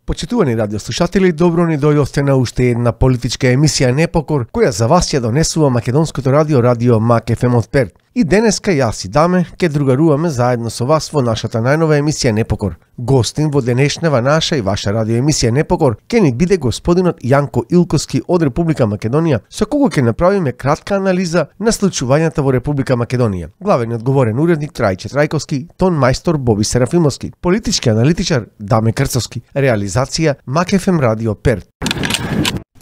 Почитувани радиослушатели, добро ни дојдовте на уште една политичка емисија Непокор, која за вас ја донесува македонското радио Мак ФМ од Перт. И денеска јас и Даме ке другаруваме заедно со вас во нашата најнова емисија Непокор. Гостин во денешнева наша и ваша радиоемисија Непокор ке ни биде господинот Јанко Илковски од Република Македонија, со кого ке направиме кратка анализа на случувањата во Република Македонија. Главен одговорен уредник Трајче Трајковски, тон мајстор Боби Серафимовски, политички аналитичар Даме Крцовски, реализација Мак ФМ Радио Перт.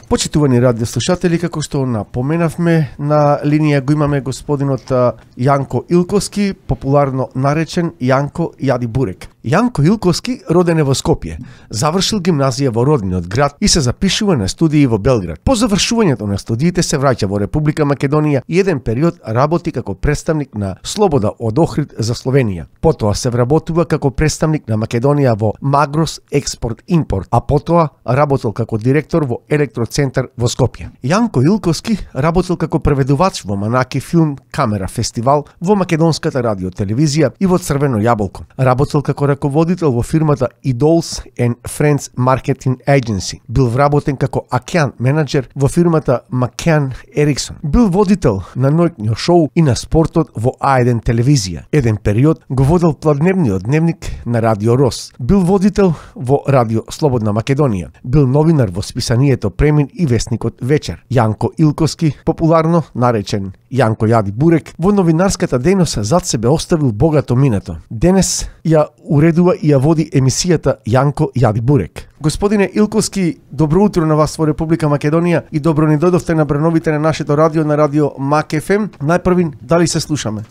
Почитувани радиослушатели, како што напоменавме, на линија го имаме господинот Јанко Илковски, популарно наречен Јанко Јади Бурек. Јанко Илковски роден е во Скопје, завршил гимназија во родниот град и се запишува на студии во Белград. По завршувањето на студиите се враќа во Република Македонија и еден период работи како представник на Слобода од Охрид за Словенија. Потоа се вработува како представник на Македонија во Магрос Експорт Импорт, а потоа работел како директор во Електроцентар во Скопје. Јанко Илковски работел како преведувач во Манаки филм Камера фестивал, во Македонската радио телевизија и во Црвено јаболко. Работел како раководител во фирмата Idols and Friends Marketing Agency. Бил вработен како акеан менеджер во фирмата Макеан Ериксон. Бил водител на ноќно шоу и на спортот во А1 телевизија. Еден период го водел пладневниот дневник на Радио Рос. Бил водител во Радио Слободна Македонија. Бил новинар во списанието Премин и весникот Вечер. Јанко Илковски, популарно наречен Јанко Јади Бурек, во новинарската дејност зад себе оставил богато минато. Денес ја уредува и ја води емисијата Јанко Јади Бурек. Господине Илковски, добро утро на вас во Република Македонија и добро ни дојдовте на бреновите на нашето радио, на радио Мак ФМ. Најпрвин, дали се слушаме?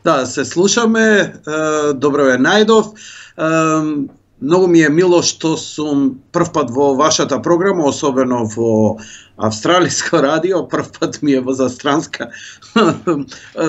Да, се слушаме. Добро ве најдов. Многу ми е мило што сум прв пат во вашата програма, особено во австралиско радио, прв пат ми е во застранска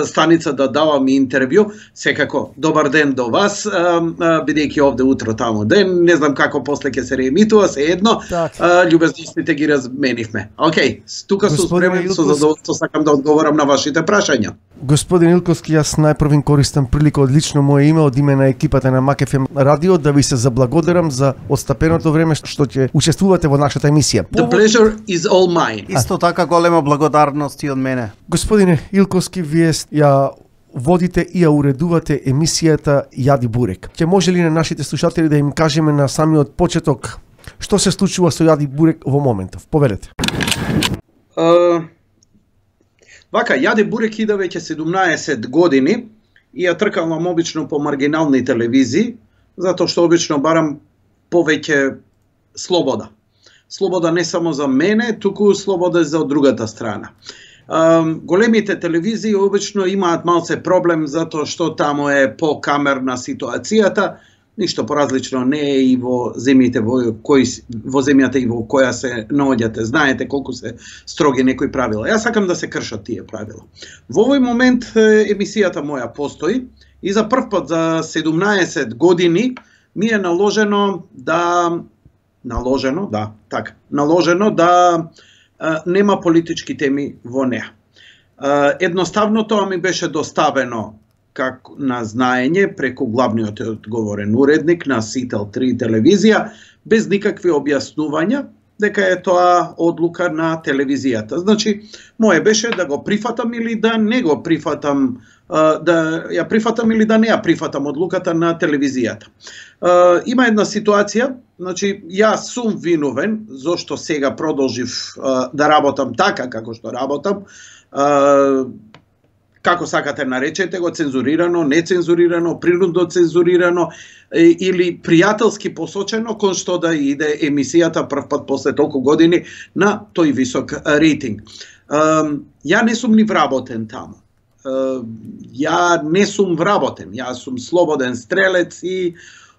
станица да давам интервју. Секако, добар ден до вас, бидејќи овде утро таму ден, не знам како после ќе се реемитува, се едно, љубезностите ги разменивме. Океј, тука сум спремен, со задоволство сакам да одговорам на вашите прашања. Господин Илковски, јас најпрвин користам прилика од лично мое име, од име на екипата на Мак ФМ радио, да ви се заблагодарам за отстапеното време што ќе учествувате во нашата емисија. The pleasure is all mine. Исто така голема благодарност и од мене. Господине Илковски, вие ја водите и ја уредувате емисијата Јади Бурек. Ќе може ли на нашите слушатели да им кажеме на самиот почеток што се случува со Јади Бурек во моментов? Повелете. Вака, Јади Бурек иде веќе 17 години и ја тркалам обично по маргинални телевизии, затоа што обично барам повеќе слобода. Слобода не само за мене, туку слобода за другата страна. Големите телевизии обично имаат малце проблем затоа што таму е покамерна ситуацијата, ништо поразлично не е и во земјите во земјата и во која се наоѓате. Знаете колку се строги некои правила. Јас сакам да се кршат тие правила. Во овој момент емисијата моја постои и за прв пат за 17 години ми е наложено да нема политички теми во неа. Едноставно тоа ми беше доставено како на знаење преку главниот одговорен уредник на Сител 3 телевизија, без никакви објаснувања дека е тоа одлука на телевизијата. Значи, моje беше да го прифатам или да не го прифатам, да ја прифатам или да не ја прифатам одлуката на телевизијата. Има една ситуација, значи, јас сум виновен зошто сега продолжив да работам така како што работам, како сакате наречете го, цензурирано, нецензурирано, принудно цензурирано или пријателски посочено, кон што да иде емисијата прв пат после толку години на тој висок рейтинг. Ја не сум ни вработен таму. Ја не сум вработен, јас сум слободен стрелец и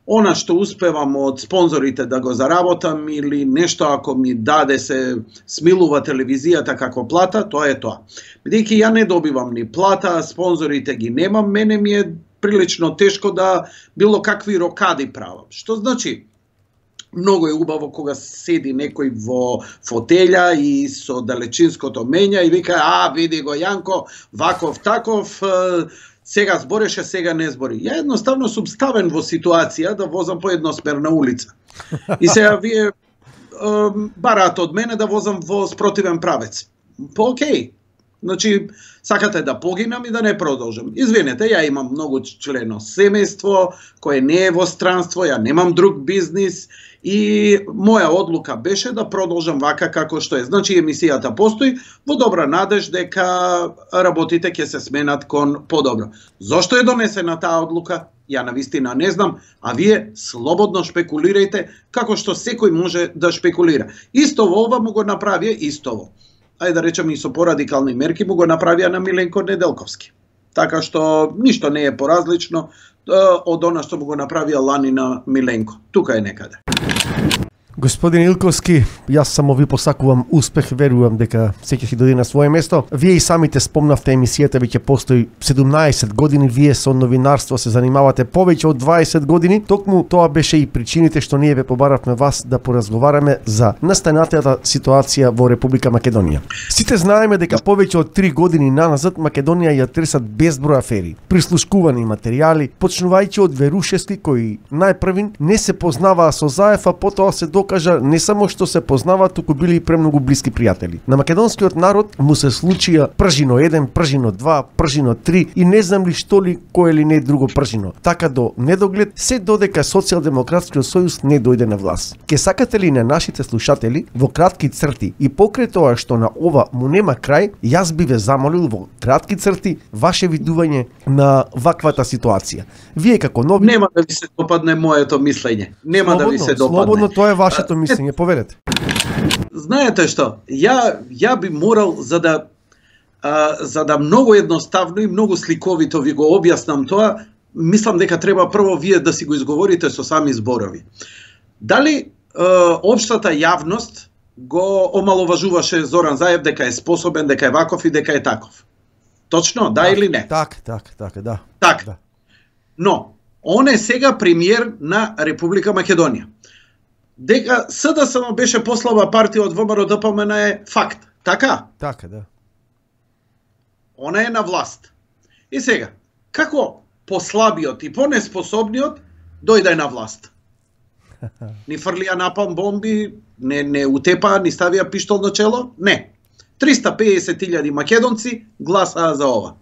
она што успевам од спонзорите да го заработам или нешто ако ми даде се смилува телевизијата како плата, тоа е тоа. Бидејќи ја не добивам ни плата, спонзорите ги немам, мене ми е прилично тешко да било какви рокади правам. Што значи, многу е убаво кога седи некој во фотелја и со далечинското мења и вика, види го Јанко, ваков таков, сега збореше, сега не збори. Ја едноставно сум ставен во ситуација да возам по едносмерна улица. И сега вие бараат од мене да возам во спротивен правец. Океј. Значи, сакате да погинам и да не продолжам. Извинете, ја имам многу члено семејство, кое не е во странство, ја немам друг бизнис и моја одлука беше да продолжам вака како што е. Значи, емисијата постои во добра надеж дека работите ќе се сменат кон подобро. Зошто е донесена таа одлука? Ја навистина не знам, а вие слободно шпекулирајте како што секој може да шпекулира. Истово ова му го направија истово. Ајде да речем и со порадикални мерки му го направија на Миленко Неделковски. Така што ништо не е поразлично од она што му го направија лани на Миленко. Тука е некаде. Господин Илковски, јас само ви посакувам успех, верувам дека секој ќе дојде на свое место. Вие и самите спомнавте емисијата веќе постои 17 години, вие со новинарство се занимавате повеќе од 20 години. Токму тоа беше и причините што ние ве побаравме вас да поразговараме за настанатата ситуација во Република Македонија. Сите знаеме дека повеќе од 3 години наназад Македонија ја тресат безброј афери, прислушкувани материјали, почнувајќи од Верушевски кои најпрвин не се познаваа со Заев, а потоа се кажа не само што се познаваат, туку били и премногу блиски пријатели. На македонскиот народ му се случија пржино 1, пржино 2, пржино 3 и не знам ли што ли кое ли не друго пржино. Така до недоглед, се додека Социјалдемократскиот сојуз не дојде на власт. Ке сакате ли на нашите слушатели во кратки црти и покрај тоа што на ова му нема крај, јас би ве замолил во кратки црти ваше видување на ваквата ситуација. Вие како нови Нема да ви се допадне моето мислење. Нема да ви се допадне. Слободно, тоа е вашето мислење, повелете. Знаете што? Ја би морал за да многу едноставно и многу сликовито ви го објаснам тоа, мислам дека треба прво вие да си го изговорите со сами зборови. Дали општата јавност го омаловажуваше Зоран Заев дека е способен, дека е ваков и дека е таков? Точно, да или не? Да. Так. Да. Но, он е сега премиер на Република Македонија. Дека СДСМ беше послаба партија од ВМРО-ДПМН е факт, така? Така, да. Она е на власт. И сега, како послабиот и понеспособниот дојде на власт? Ни фрлија напалм бомби, не утепаа, ни ставија пиштол на чело? Не. 350.000 македонци гласаа за ова.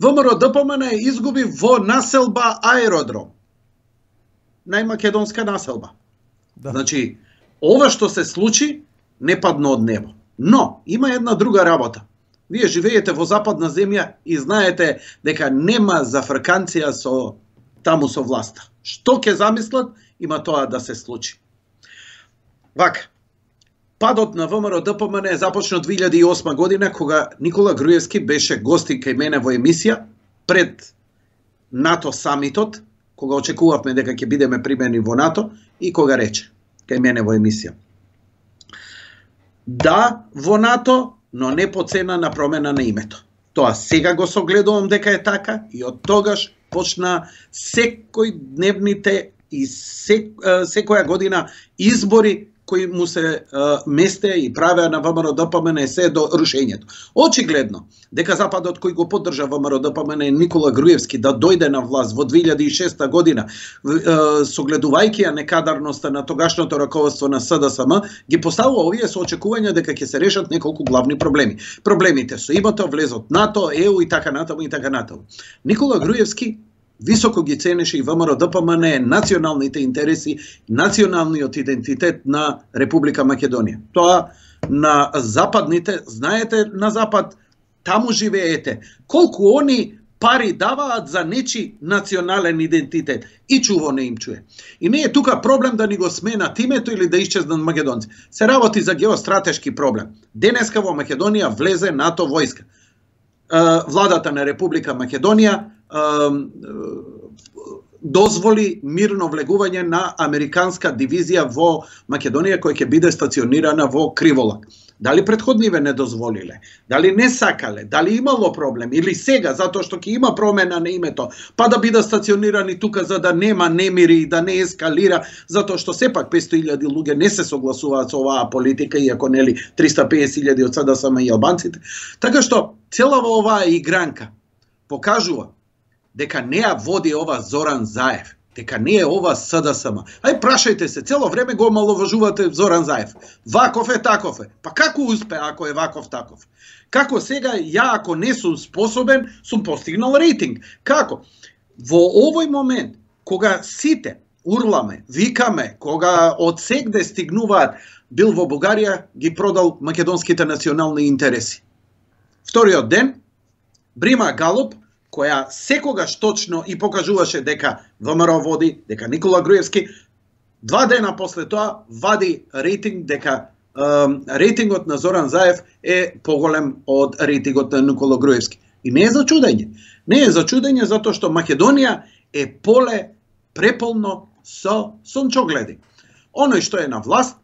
ВМРО-ДПМН изгуби во населба Аеродром. Најмакедонска населба. Да. Значи, ова што се случи не падна од небо. Но, има една друга работа. Вие живеете во западна земја и знаете дека нема зафрканција таму со власта. Што ќе замислат, има тоа да се случи. Вака, падот на ВМРО-ДПМН започна 2008 година, кога Никола Груевски беше гостин кај мене во емисија пред НАТО самитот, кога очекувавме дека ќе бидеме примени во НАТО и кога рече кај мене во емисија. Да, во НАТО, но не по цена на промена на името. Тоа сега го согледувам дека е така и од тогаш почна секој дневните и секоја година избори кои му се месте и правеа на ВМРО-ДПМН се до рушењето. Очигледно, дека Западот кој го поддржа ВМРО-ДПМН Никола Груевски да дојде на власт во 2006 година, согледувајќи ја некадарноста на тогашното раководство на СДСМ, ги поставува овие со очекување дека ќе се решат неколку главни проблеми. Проблемите со името, влезот НАТО, ЕУ и така натаму и така натаму. Никола Груевски високо ги ценеше и ВМРО-ДПМН националните интереси, националниот идентитет на Република Македонија. Тоа на западните, знаете, на запад, таму живеете, колку они пари даваат за нечи национален идентитет и чуво не им чуе. И не е тука проблем да ни го сменат името или да исчезнат македонци. Се работи за геостратешки проблем. Денеска во Македонија влезе НАТО војска. Владата на Република Македонија дозволи мирно влегување на американска дивизија во Македонија која ќе биде стационирана во Криволак. Дали претходниве не дозволиле? Дали не сакале? Дали имало проблем? Или сега, затоа што ќе има промена на името, па да бидат стационирани тука за да нема немири и да не ескалира, затоа што сепак 500.000 луѓе не се согласуваат со оваа политика, иако нели 350.000 од СДСМ и албанците. Така што целава оваа игранка покажува дека не ја води ова Зоран Заев, дека не е ова СДСМ. Ај прашајте се, цело време го маловажувате Зоран Заев. Ваков е, таков е. Па како успе ако е ваков таков? Како сега ја ако не сум способен, сум постигнал рейтинг? Како? Во овој момент, кога сите урламе, викаме, кога од сегде стигнуваат, бил во Бугарија, ги продал македонските национални интереси. Вториот ден, Брима Галуп, која секогаш точно и покажуваше дека ВМРО води, дека Никола Груевски, 2 дена после тоа вади рейтинг дека рейтингот на Зоран Заев е поголем од рейтингот на Никола Груевски. И не е за чудење. Не е за чудење затоа што Македонија е поле преполно со сончогледи. Оној што е на власт,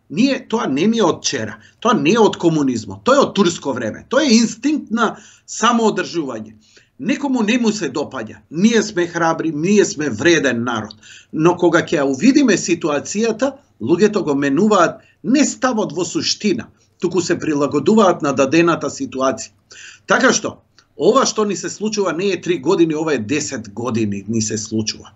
тоа не ни е од вчера, тоа не е од комунизмот, тоа е од турско време, тоа е инстинкт на самоодржување. Некому не му се допаѓа, ние сме храбри, ние сме вреден народ, но кога ќе увидиме ситуацијата, луѓето го менуваат не ставот во суштина, туку се прилагодуваат на дадената ситуација. Така што, ова што ни се случува не е 3 години, ова е 10 години ни се случува.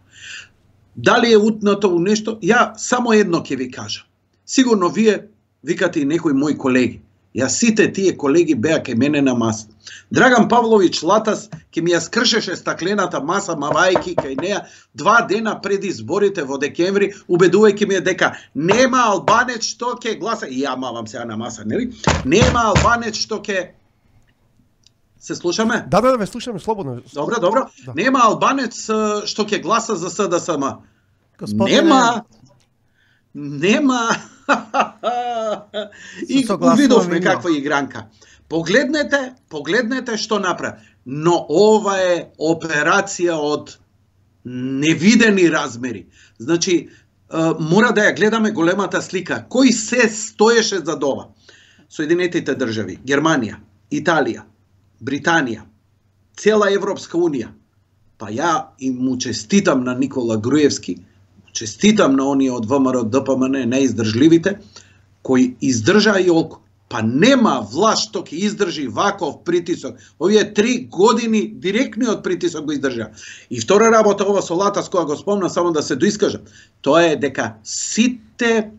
Дали е утнато у нешто? Ја само едно ќе ви кажа. Сигурно вие викате и некои мои колеги. Ја сите тие колеги беа кај мене на маса. Драган Павлович Латас ќе ми ја скршеше стаклената маса, мавајки кај неа 2 дена пред изборите во декември, убедувајќи ме дека нема албанец што ќе гласа, и ја мавам сега на маса, нели? Нема албанец што ќе... Се слушаме? Да, ве слушаме слободно. Добро. Да. Нема албанец што ќе гласа за СДСМ. Нема. И увидовме каква игранка. Погледнете што направи. Но ова е операција од невидени размери. Значи, мора да ја гледаме големата слика. Кој се стоеше за ова? Соединетите држави, Германија, Италија, Британија, цела Европска унија. Па ја и му честитам на Никола Груевски, честитам на оние од ВМРО ДПМН најиздржливите, кои издржаа и олку. Па нема власт што ќе издржи ваков притисок. Овие 3 години директниот притисок го издржа. И втора работа ова со Латас, која го спомна, само да се доискажам, тоа е дека сите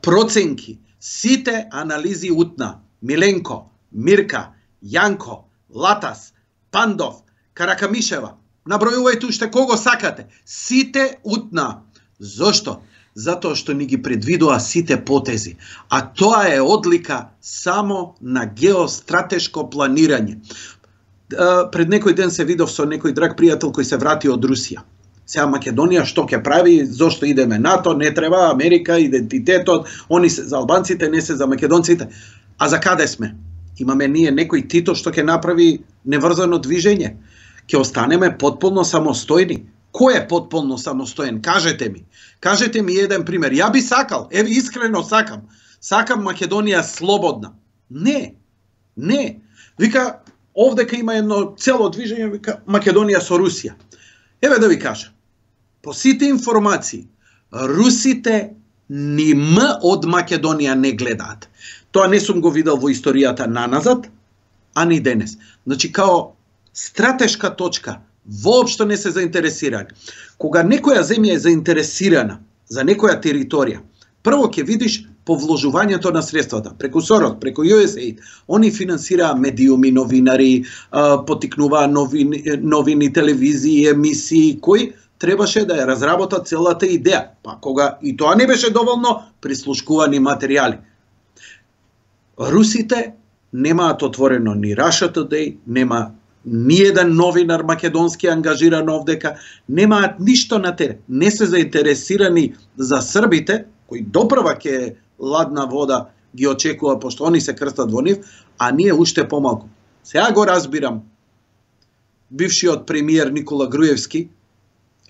проценки, сите анализи утна, Миленко, Мирка, Јанко, Латас, Пандов, Каракамишева, набројувајте уште кого сакате, сите утна. Зошто? Затоа што ни ги предвидува сите потези, а тоа е одлика само на геостратешко планирање. Пред некој ден се видов со некој драг пријател кој се врати од Русија. Сега Македонија што ќе прави, зошто идеме НАТО, не треба Америка, идентитетот, они се за албанците, не се за македонците. А за каде сме? Имаме ние некој Тито што ќе направи неврзано движење. Ќе останеме потполно самостојни. Кој е потполно самостоен? Кажете ми. Кажете ми еден пример. Ја би сакал, еве искрено сакам. Сакам Македонија слободна. Не. Вика, овдека има едно цело движење, вика Македонија со Русија. Еве да ви кажа. По сите информации, русите ни од Македонија не гледаат. Тоа не сум го видел во историјата наназад, а ни денес. Значи, као стратешка точка, воопшто не се заинтересирани. Кога некоја земја е заинтересирана за некоја територија, прво ќе видиш по вложувањето на средствата, преку Сорос, преку USAID, они финансираа медиуми, новинари, потикнуваа новини, телевизии, емисии, кои требаше да ја разработат целата идеја. Па кога и тоа не беше доволно, прислушкувани материјали. Русите немаат отворено ни Russia Today, нема ни еден новинар македонски ангажиран овдека, немаат ништо на терен. Не се заинтересирани за србите, кои допрва ке ладна вода ги очекува, пошто они се крстат во нив, а ние уште помалку. Сега го разбирам бившиот премиер Никола Груевски,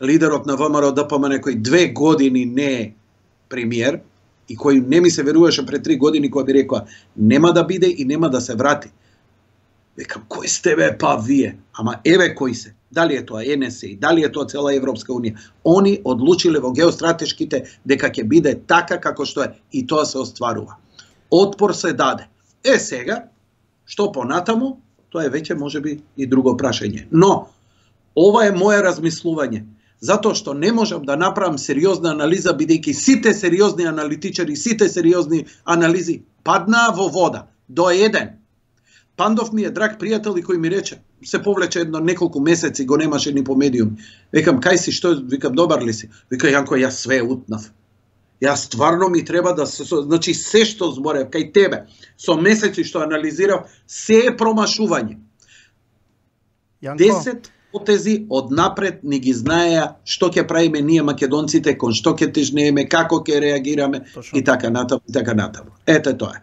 лидерот на ВМРО ДПМН кој 2 години не е премиер и кој не ми се веруваше пред 3 години кога би рекоа нема да биде и нема да се врати. Викам, кој сте бе, па вие? Ама еве кои се. Дали е тоа НСИ, дали е тоа цела Европска унија. Они одлучиле во геостратешките дека ќе биде така како што е и тоа се остварува. Отпор се даде. Сега, што понатаму, тоа е веќе можеби и друго прашање. Но, ова е моje размислување. Затоа што не можам да направам сериозна анализа, бидејќи сите сериозни аналитичари, сите сериозни анализи паднаа во вода. До еден. Пандов ми е драг пријател и кој ми рече, се повлече едно неколку месеци, го немаше ни по медиум. Викам, кај си, што? Викам, добар ли си? Вика, Јанко, јас све утнав. Јас стварно ми треба да се... Значи, се што зборев кај тебе, со месеци што анализирав, се е промашување. 10 потези однапред ни ги знаеа што ќе правиме ние македонците, кон што ќе тежнееме, како ќе реагираме и така натаму, и така натаму. Ете тоа е.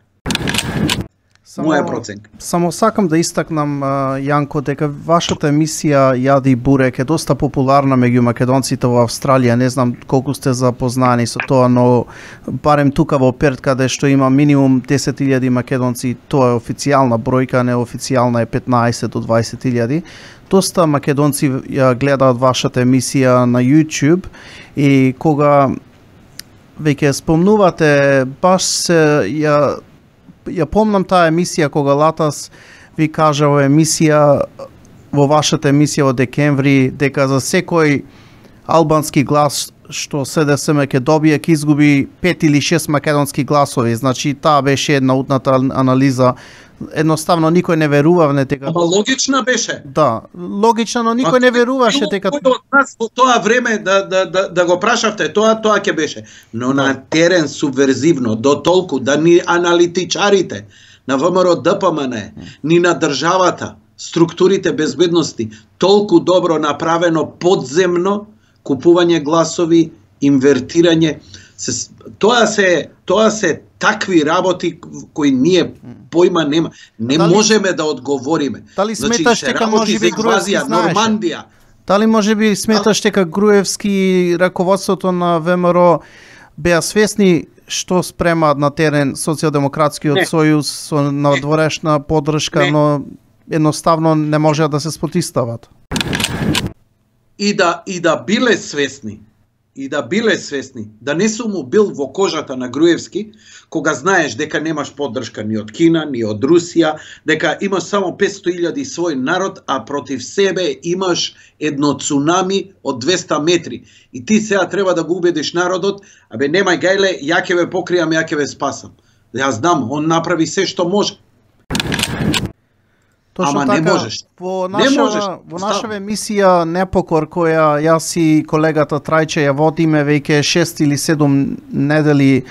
Моја проценка. Само сакам да истакнам, Јанко, дека вашата емисија Јади Бурек е доста популарна меѓу македонците во Австралија. Не знам колку сте запознани со тоа, но барем тука во Перт, каде што има минимум 10.000 македонци, тоа е официјална бројка, неофицијална е 15 до 20.000. Доста македонци ја гледаат вашата емисија на YouTube и кога веќе спомнувате, баш ја помнам таа емисија кога Латас ви кажа во вашата емисија во декември дека за секој албански глас што СДСМ ќе добие ќе изгуби 5 или 6 македонски гласови. Значи таа беше една утната анализа. Едноставно никој не верувавне дека... Ама логична беше. Да, логична, но никој не веруваше дека... Кој од нас во тоа време да го прашавте, тоа ќе беше. Но на терен субверзивно, до толку да ни аналитичарите на ВМРО ДПМН, ни на државата, структурите безбедности, толку добро направено подземно, купување гласови, инвертирање, тоа се такви работи кои ние појма нема. Не можеме да одговориме. Дали сметаш дека можеби Груевски знаеше? Нормандија. Дали можеби сметаш дека Груевски и раководството на ВМРО беа свесни што спремаат на терен социјалдемократскиот сојуз со надворешна поддршка, но едноставно не можеа да се спротивстават? И да биле свесни, да не сум му бил во кожата на Груевски, кога знаеш дека немаш поддршка ни од Кина, ни од Русија, дека имаш само 500.000 свој народ, а против себе имаш едно цунами од 200 метри. И ти сега треба да го убедиш народот, абе немај гајле, ја ќе ве покријам, ја ќе ве спасам. Јас знам, он направи се што може. Точно ама така, не можеш. Во нашава емисија Непокор, која јас и колегата Трајче ја водиме веќе 6 или 7 недели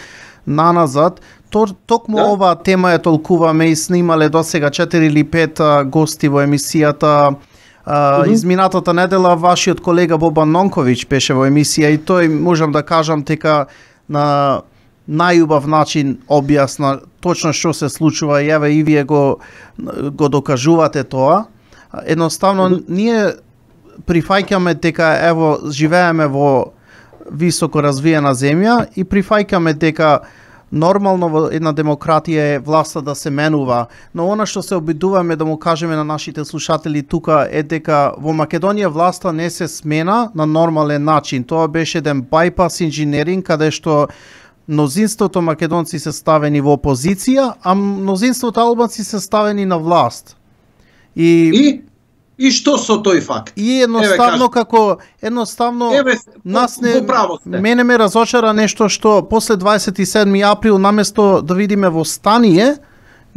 наназад, токму оваа тема ја толкуваме и снимале досега 4 или 5 гости во емисијата. Изминатата недела вашиот колега Бобан Нонковиќ беше во емисија и тој можам да кажам дека на најубав начин објасна точно што се случува и еве и вие го докажувате тоа. Едноставно ние прифаќаме дека ево живееме во високо развиена земја и прифаќаме дека нормално во една демократија е власта да се менува, но она што се обидуваме да му кажеме на нашите слушатели тука е дека во Македонија власта не се смена на нормален начин. Тоа беше еден байпас инженеринг каде што мнозинството македонци се ставени во опозиција, а мнозинството албанци се ставени на власт. И што со тој факт? И едноставно нас мене ме разочара нешто што после 27 април наместо да видиме востание,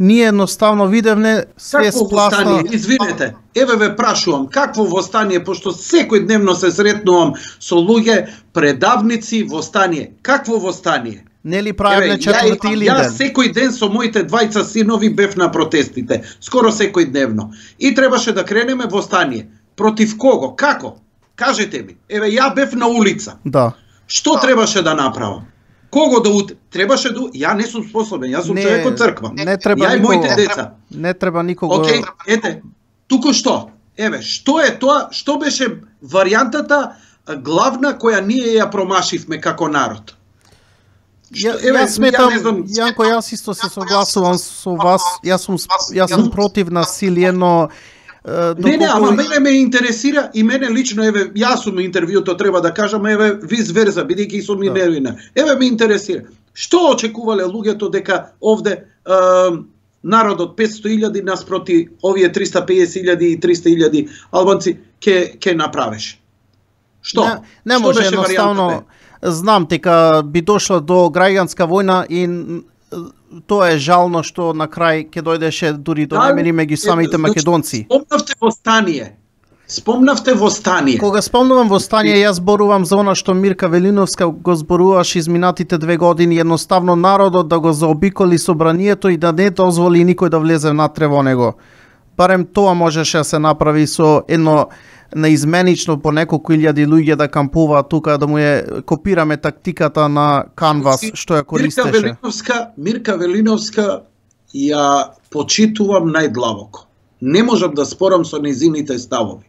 ние едноставно видевме све спласта. Извинете, еве ве прашувам, какво востание, пошто секојдневно се сретнувам со луѓе, предавници, востание. Какво востание? Нели правиле четврти или ден? Јас секој ден со моите двајца синови бев на протестите, скоро секојдневно. И требаше да кренеме востание. Против кого? Како? Кажете ми. Еве ја бев на улица. Да. Што требаше да направам? Кого да требаше да... Ја не сум способен, јас сум човек од црква. Не треба ја и моите деца. Не треба никого. Океј, ете, туку што? Еве, што е тоа? Што беше варијантата главна која ние ја промашивме како народ. Јас сметам, Јанко, јас исто се согласувам со вас. Јас сум против насилие, но Не, ама мене ме интересира и мене лично, еве, јас сум интервјуто, треба да кажам, еве, виз верза, бидејќи сум и невина. Еве ме интересира. Што очекувале луѓето дека овде народот 500.000 наспроти овие 350.000 и 300.000 албанци ќе направиш? Што? Не може едноставно. Знам дека би дошло до граѓанска војна и тоа е жално што на крај ќе дојдеше дури до немири меѓу самите македонци. Спомнавте восстание. Кога спомнувам восстание, јас зборувам за она што Мирка Велиновска го зборуваше изминатите 2 години, едноставно народот да го заобиколи собранието и да не дозволи никој да влезе внатре во него. Барем тоа можеше да се направи со едно неизменично по неколку илјади луѓе да кампуваат тука, да му ја копираме тактиката на Canvas што ја користеше. Мирка Велиновска ја почитувам најдлабоко. Не можам да спорам со незините ставови.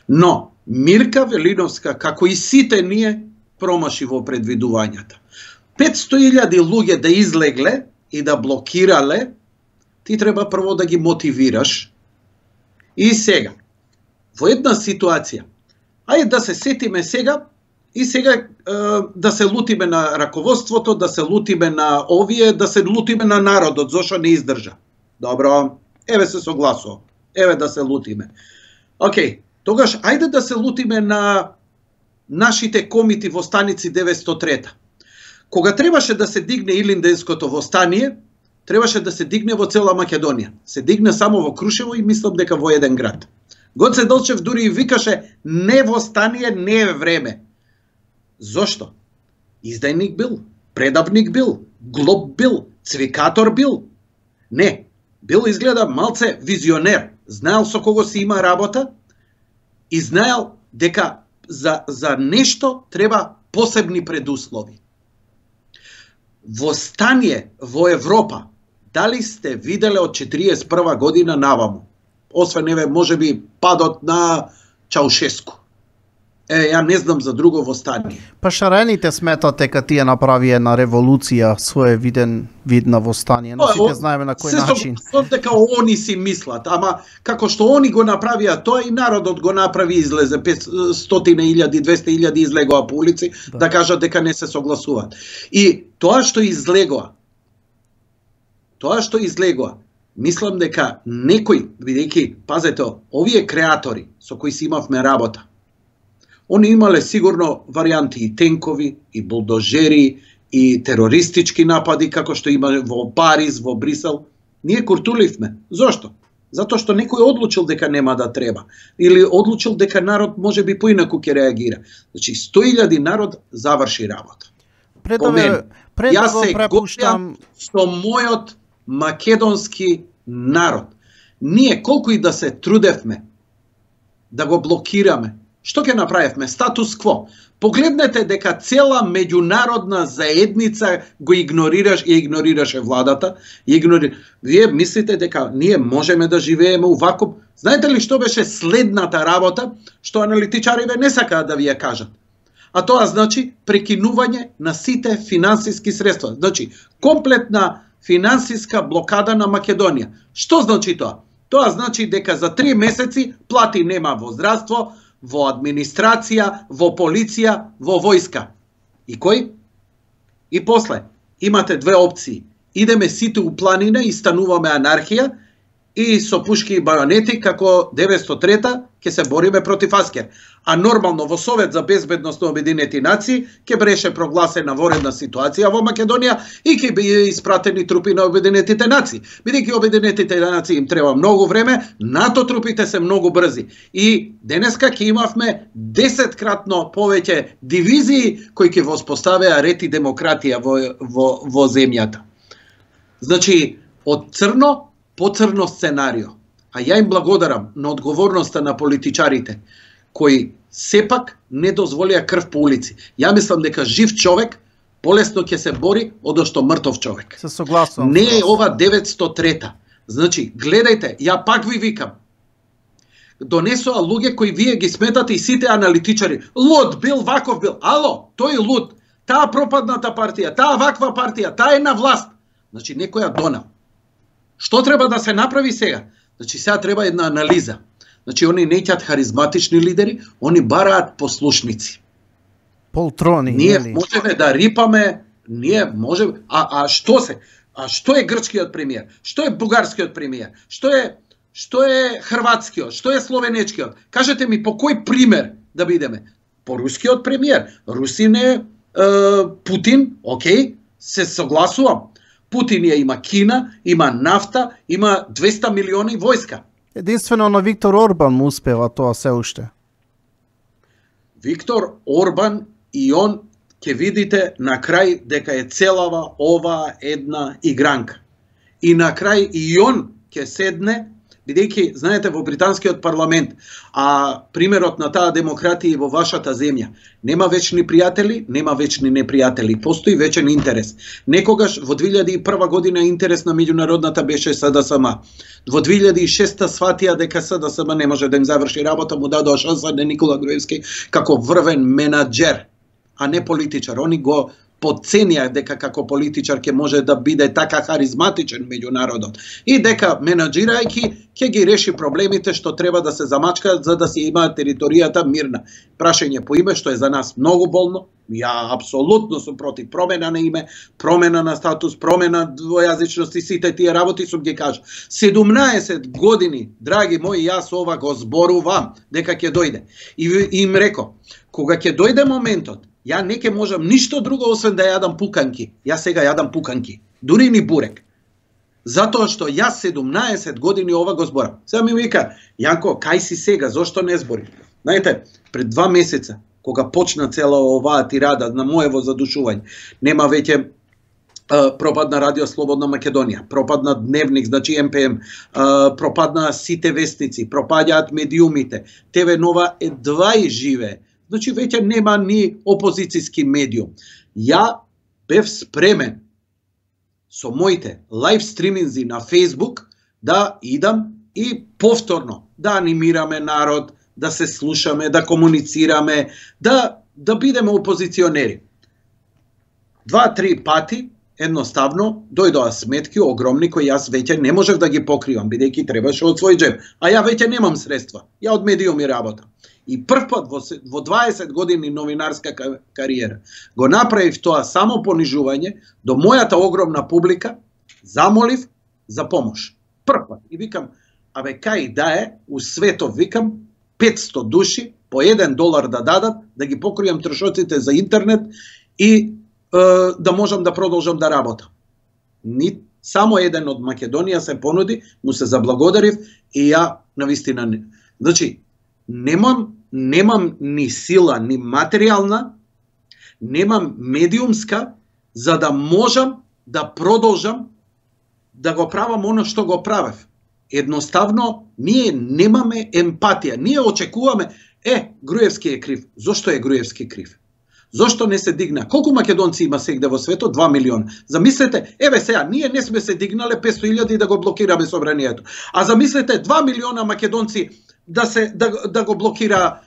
Но Мирка Велиновска, како и сите ние, промаши во предвидувањата. 500.000 луѓе да излегле и да блокирале, ти треба прво да ги мотивираш. И сега, во една ситуација, ајде да се сетиме сега, и сега да се лутиме на раководството, да се лутиме на овие, да се лутиме на народот, зошто не издржа. Добро, еве се согласувам, еве да се лутиме. Океј, тогаш ајде да се лутиме на нашите комити во станици 903. Кога требаше да се дигне Илинденското востание, требаше да се дигне во цела Македонија. Се дигне само во Крушево и мислам дека во еден град. Гоце Делчев дури и викаше не востание, не е време. Зошто? Издајник бил, предавник бил, глоб бил, цвикатор бил. Не, бил изгледа малце визионер. Знаел со кого си има работа и знаел дека за нешто треба посебни предуслови. Востание во Европа, дали сте виделе од 41 година наваму? Освен еве можеби падот на Чаушеску. Ја не знам за друго востание. Па шарените сметат дека тие направи една револуција, своевиден вид на востание. Но сите знаеме на кој начин. Се дека они си мислат, ама како што они го направија тоа и народот го направи, излезе 500.000, 200.000 излегоа по улици да кажат дека не се согласуваат. И тоа што излегоа, мислам дека некој, бидејќи, пазете, овие креатори со кои си имавме работа, они имале сигурно варијанти и тенкови, и булдожери, и терористички напади, како што има во Париз, во Брисел. Ние куртуливме. Зошто? Затоа што некој одлучил дека нема да треба. Или одлучил дека народ може би поинаку ќе реагира. Значи, 100.000 народ заврши работа. Јас се гордам со мојот македонски народ. Ние колку и да се трудевме да го блокираме, што ќе направевме? Статус кво. Погледнете дека цела меѓународна заедница го игнорираше владата. Вие мислите дека ние можеме да живееме уваков? Знаете ли што беше следната работа, што аналитичариве не сакаат да ви ја кажат? А тоа значи прекинување на сите финансиски средства. Значи, комплетна финансиска блокада на Македонија. Што значи тоа? Тоа значи дека за 3 месеци плати нема во здравство, во администрација, во полиција, во војска. И кој? И после, имате две опции. Идеме сите у планина и стануваме анархија и со пушки и бајонети, како 903-та, ќе се бориме против Аскер. А нормално во Совет за безбедност на Обединети нации ќе беше прогласена воредна ситуација во Македонија и ќе би испратени трупи на Обединетите нации. Бидејќи Обединетите нации им треба многу време, НАТО трупите се многу брзи. И денеска ќе имавме 10-кратно повеќе дивизии кои ќе воспоставеа ред и демократија во земјата. Значи, од црно по црно сценарио. А ја им благодарам на одговорноста на политичарите, кои сепак не дозволија крв по улици. Ја мислам дека жив човек полесно ќе се бори одошто мртов човек. Се согласувам. Не е ова 903-та. Значи, гледајте, ја пак ви викам. донесоа луѓе кои вие ги сметате и сите аналитичари. Луд бил, ваков бил. Ало, тој луд. Таа пропадната партија, таа ваква партија, таа е на власт. Значи некоја донал. Што треба да се направи сега? Значи сега треба една анализа. Значи они не ќат харизматични лидери, они бараат послушници. Полтрони. Ние можеме да рипаме, ние можеме, што се? А што е грчкиот премиер? Што е бугарскиот премиер? Што е хрватскиот? Што е словенечкиот? Кажете ми по кој пример да бидеме? По рускиот премиер. Русин е Путин, окей, се согласувам. Путин има Кина, има нафта, има 200 милиони војска. Единствено на Виктор Орбан му успева тоа се уште. Виктор Орбан и он ќе видите на крај дека е целава оваа една игранка. И на крај и он ќе седне, бидејќи, знаете, во британскиот парламент, примерот на таа демократија во вашата земја, нема вечни пријатели, нема вечни непријатели, постои вечен интерес. Некогаш во 2001 година интерес на меѓународната беше СДСМ. Во 2006 сватија дека СДСМ не може да им заврши работа, му дадоа шанса на Никола Груевски како врвен менаџер, а не политичар. Они го подценија дека како политичар ќе може да биде така харизматичен меѓу народот и дека менаџирајќи ќе ги реши проблемите што треба да се замачкаат за да се имаат територијата мирна. Прашање по име што е за нас многу болно. Ја апсолутно сум против промена на име, промена на статус, промена двојазичност и сите тие работи сум ги кажа. 17 години, драги мои, јас ова го зборувам дека ќе дојде. И им реко, кога ќе дојде моментот, ја не ќе можам ништо друго освен да јадам пуканки. Јас сега јадам пуканки, дури ни бурек. Затоа што јас 17 години ова го зборам. Сега ми вика, Јанко, кај си сега, зошто не збори? Знаете, пред 2 месеца, кога почна цела оваа тирада на моево задушување, нема веќе пропадна Радио Слободна Македонија, пропадна Дневник, значи МПМ, пропадна сите вестници, пропаѓаат медиумите, ТВ Нова едва и живее. Значи веќе нема ни опозицијски медиум. Ја бев спремен со моите лайв стриминзи на Facebook да идам и повторно да анимираме народ, да се слушаме, да комуницираме, да бидеме опозиционери. 2-3 пати едноставно дојдоа сметки огромни кои јас веќе не можев да ги покривам, бидејќи требаше од свој џеб, а ја веќе немам средства. Ја од медиуми работам. И прв пат во 20 години новинарска кариера го направив тоа само понижување до мојата огромна публика, замолив за помош. Прв пат. И викам, абе кај да е, у светов викам, 500 души по $1 да дадат, да ги покријам трошоците за интернет и да можам да продолжам да работам. Само еден од Македонија се понуди, му се заблагодарив и ја навистина не. Значи, немам ни сила, ни материјална, немам медиумска, за да можам да продолжам да го правам оно што го правев. Едноставно, ние немаме емпатија. Ние очекуваме, Груевски е крив. Зошто е Груевски крив? Зошто не се дигна? Колку македонци има сегде во светот? 2 милиона. Замислете, сега, ние не сме се дигнале 500.000 да го блокираме собранието. А замислете, 2 милиона македонци да го блокира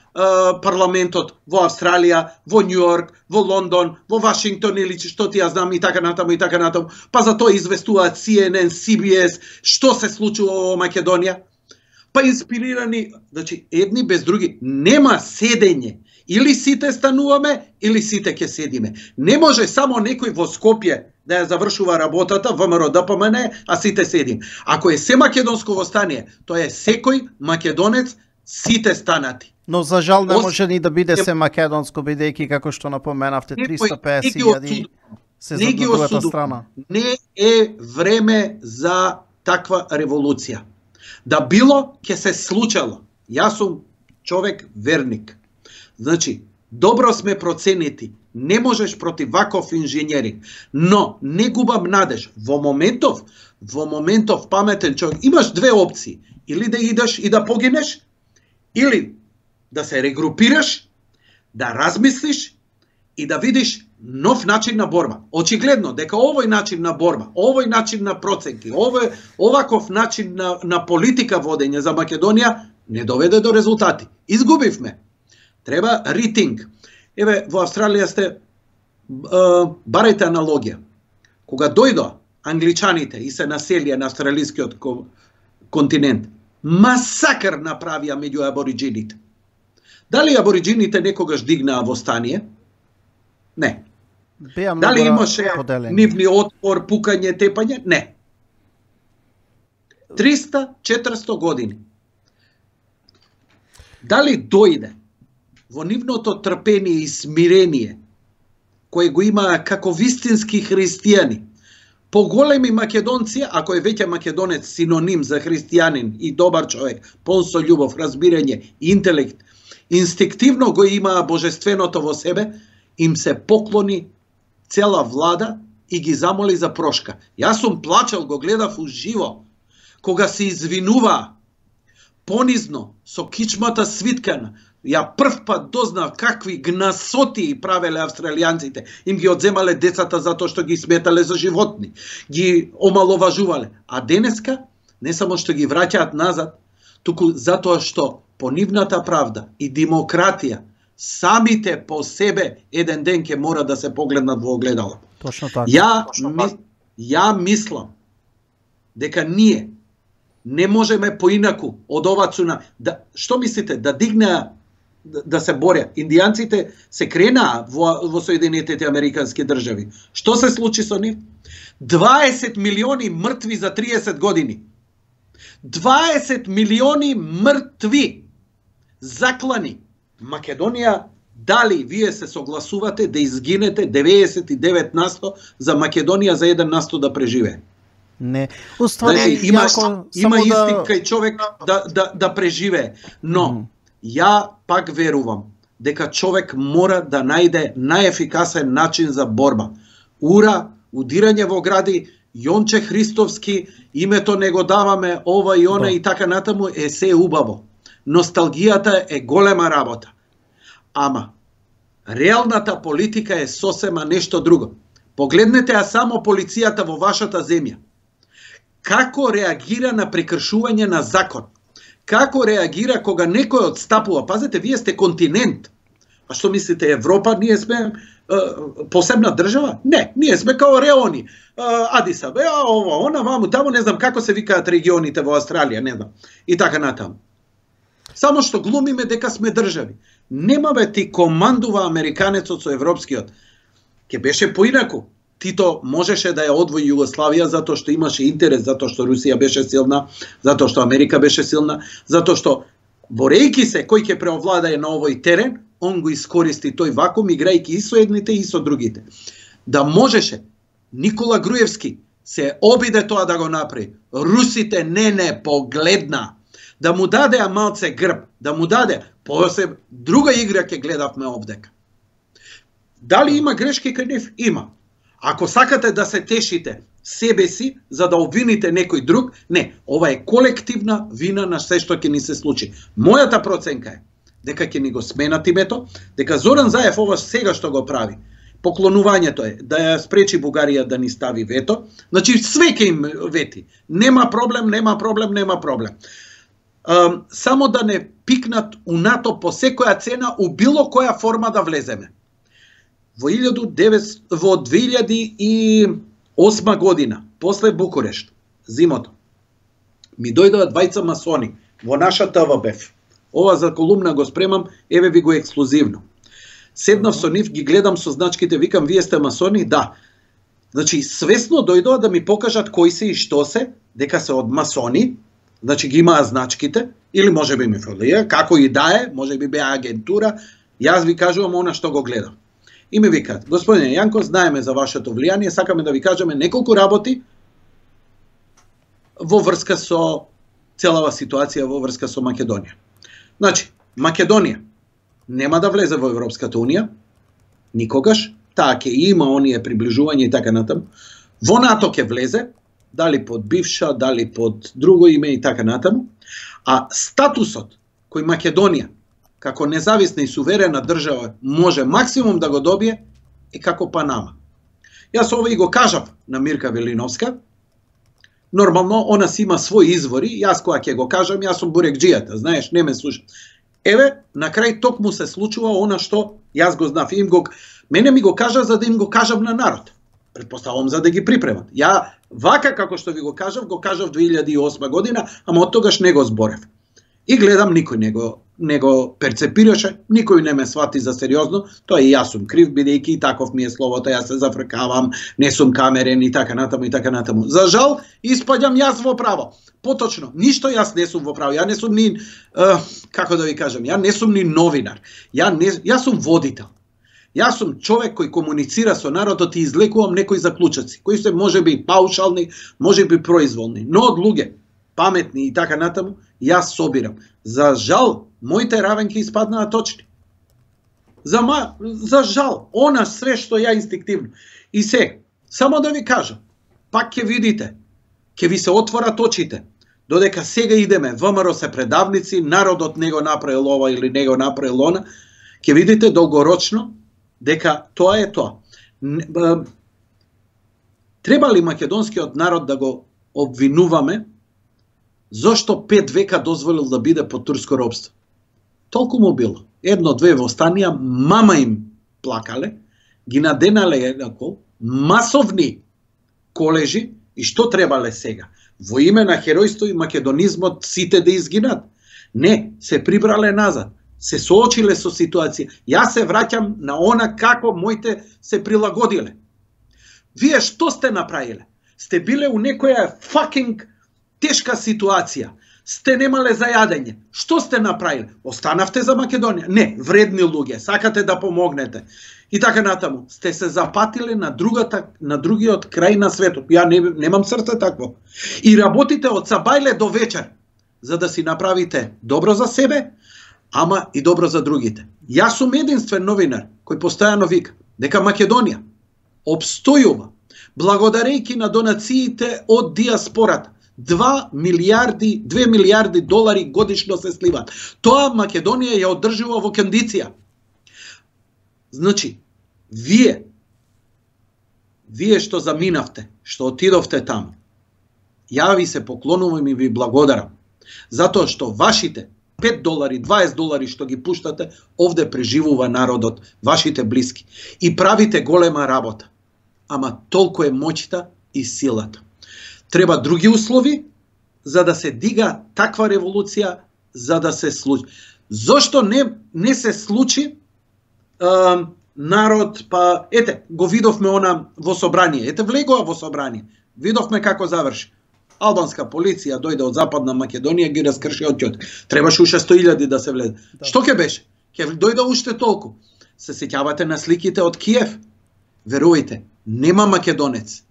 парламентот во Австралија, во Њујорк, во Лондон, во Вашингтон или што ти ја знам и така натаму и така натаму. Па за тоа известуваат CNN, CBS, што се случува во Македонија. Па инспирирани, значи едни без други, нема седење. Или сите стануваме, или сите ќе седиме. Не може само некој во Скопје да ја завршува работата, ВМРО ДПМН, а сите седим. Ако е се македонско востание, тоа е секој македонец, сите станати. Но за жал не може ни да биде се македонско, бидејќи како што напоменавте 350.000 се за другата страна. Не е време за таква револуција. Да било ќе се случало. Јас сум човек верник. Значи, добро сме проценети. Не можеш против ваков инженеринг, но не губам надеж. Во моментов паметен човек, имаш две опции. Или да идеш и да погинеш, или да се регрупираш, да размислиш и да видиш нов начин на борба. Очигледно дека овој начин на борба, овој начин на проценки, оваков начин на политика водење за Македонија не доведе до резултати. Изгубивме. Треба ритинг. Еве, во Австралија сте, барајте аналогија. Кога дојдоа англичаните и се населија на австралискиот континент, масакр направија меѓу абориджините. Дали абориджините некогаш дигнаа восстание? Не. Дали имаше нивни отпор, пукање, тепање? Не. 300-400 години. Дали дојде во нивното трпение и смирение, кој го имаа како вистински христијани, поголеми македонци, ако е веќе македонец синоним за христијанин и добар човек, полн со љубов, разбирање, интелект, инстинктивно го имаа божественото во себе, им се поклони цела влада и ги замоли за прошка. Јас сум плачел, го гледав уживо, кога се извинуваа понизно, со кичмата свиткана. Ја прв пат дознав какви гнасоти правеле австралијанците. Им ги одземале децата затоа што ги сметале за животни. Ги омаловажувале. А денеска, не само што ги враќаат назад, туку затоа што по нивната правда и демократија, самите по себе еден ден ќе мора да се погледнат во огледало. Точно така. Ја мислам дека ние не можеме поинаку од ова цуна. Што мислите, да дигнеа, да се боря? Индијанците се кренаа во Соединетите Американски држави. Што се случи со нив? 20 милиони мртви за 30 години. 20 милиони мртви, заклани. Македонија, дали вие се согласувате да изгинете 99% за Македонија за 1% да преживее? Не. Уствари, има инстинкт кај човек да преживее. Но, ја пак верувам дека човек мора да најде најефикасен начин за борба. Ура, удирање во гради, Јонче Христовски, името не го даваме, ова и она и така натаму, е се убаво. Носталгијата е голема работа. Ама, реалната политика е сосема нешто друго. Погледнете а само полицијата во вашата земја. Како реагира на прекршување на закон? Како реагира кога некој одстапува? Пазете, вие сте континент. А што мислите, Европа, ние сме посебна држава? Не, ние сме као реони. Адис Абеба, ова, она, ваму, таму, не знам како се викаат регионите во Австралија, не знам. И така натаму. Само што глумиме дека сме држави. Нема бе, ти командува американецот со европскиот. Ке беше поинаку. Тито можеше да ја одвои Југославија затоа што имаше интерес, затоа што Русија беше силна, затоа што Америка беше силна, затоа што борејки се кој ќе преовладае на овој терен, он го искористи тој вакуум играјќи и со едните и со другите. Да можеше Никола Груевски се обиде тоа да го направи. Русите не погледна. Да му даде малце грб, да му даде, после друга игра ќе гледавме овдека. Дали има грешки кај нив? Има. Ако сакате да се тешите себе си за да обвините некој друг, не, ова е колективна вина на се што ќе ни се случи. Мојата проценка е дека ќе ни го сменат името, дека Зоран Заев ова сега што го прави, поклонувањето е да ја спречи Бугарија да ни стави вето, значи све ќе им вети. Нема проблем. Само да не пикнат у НАТО по секоја цена, у било која форма да влеземе. Во 2008 година, после Букурешт, зимото, ми дојдоа двајца масони во наша ТВБФ. Ова за колумна го спремам, еве ви го ексклузивно. Седнав со нив, ги гледам со значките, викам, вие сте масони? Да. Значи, свесно дојдоа да ми покажат кои се и што се, дека се од масони, значи ги имаа значките, или може би ми фалија, како и да е, може би беа агентура, јас ви кажувам она што го гледам. И ми викаат, господине Јанко, знаеме за вашето влијание, сакаме да ви кажеме неколку работи во врска со целава ситуација во врска со Македонија. Значи, Македонија нема да влезе во Европската Унија, никогаш, таа ќе има оние приближување и така натаму. Во НАТО ќе влезе, дали под бивша, дали под друго име и така натаму, а статусот кој Македонија како независна и суверена држава може максимум да го добие е како Панама. Јас ова и го кажав на Мирка Велиновска, Нормално, она си има своји извори, јас кога ќе го кажам, јас сум бурекџијата, знаеш, не ме слуша. Еве, на крај токму се случува она што јас го знав. Мене ми го кажа за да им го кажам на народ. Предпоставувам за да ги припремат. Ја вака како што ви го кажав 2008 година, ама од тогаш не го зборев. И гледам никој не го перцепираше, никој не ме свати за сериозно, тоа и јас сум крив, бидејќи и таков ми е словото, јас се зафркавам, не сум камерен и така натаму и така натаму. За жал, испаѓам јас во право. Поточно, ништо јас не сум во право. Ја не сум ни како да ви кажам, ја не сум ни новинар. Јас сум водител. Јас сум човек кој комуницира со народот и излекувам некои заклучоци, кои се можеби паушални, можеби произволни, но од луѓе паметни и така натаму, јас собирам. За жал, моите равенки испаднаа точни. За жал, она све што ја инстинктивно. И само да ви кажам, пак ќе видите, ќе ви се отворат очите, додека сега идеме, ВМРО се предавници, народот не го направил ова или не го направил она, ќе видите долгорочно дека тоа е тоа. Треба ли македонскиот народ да го обвинуваме зошто 5 века дозволил да биде под турско робство? Толку му било. 1-2 востанија, мама им плакале, ги наденале еднакво, масовни колежи, и што требале сега? Во име на херојство и македонизмот сите да изгинат? Не, се прибрале назад, се соочиле со ситуација. Јас се враќам на она како моите се прилагодиле. Вие што сте направиле? Сте биле у некоја fucking тешка ситуација. Сте немале за јадење. Што сте направиле? Останавте за Македонија? Не, вредни луѓе, сакате да помогнете. И така натаму. Сте се запатиле на другиот крај на светот. Ја немам срце такво. И работите од сабајле до вечер, за да си направите добро за себе, ама и добро за другите. Јас сум единствен новинар кој постојано вика дека Македонија обстојува благодарејќи на донациите од диаспората. 2 милиарди долари годишно се сливаат. Тоа Македонија ја одржува во кондиција. Значи, вие што заминавте, што отидовте таму, ја ви се поклонувам и ви благодарам. Затоа што вашите 5 долари, 20 долари што ги пуштате, овде преживува народот, вашите блиски. И правите голема работа. Ама толку е моќта и силата. Треба други услови за да се дига таква револуција, за да се случи. Зошто не се случи народ, па ете, го видовме она во собрание. Ете, влегува во собрание. Видовме како заврши. Албанска полиција дојде од Западна Македонија, ги раскрши отјот. Требаше уште 100.000 да се влезе. Да. Што ќе беше? Ќе дојде уште толку. Се сеќавате на сликите од Киев? Верувајте, нема македонец.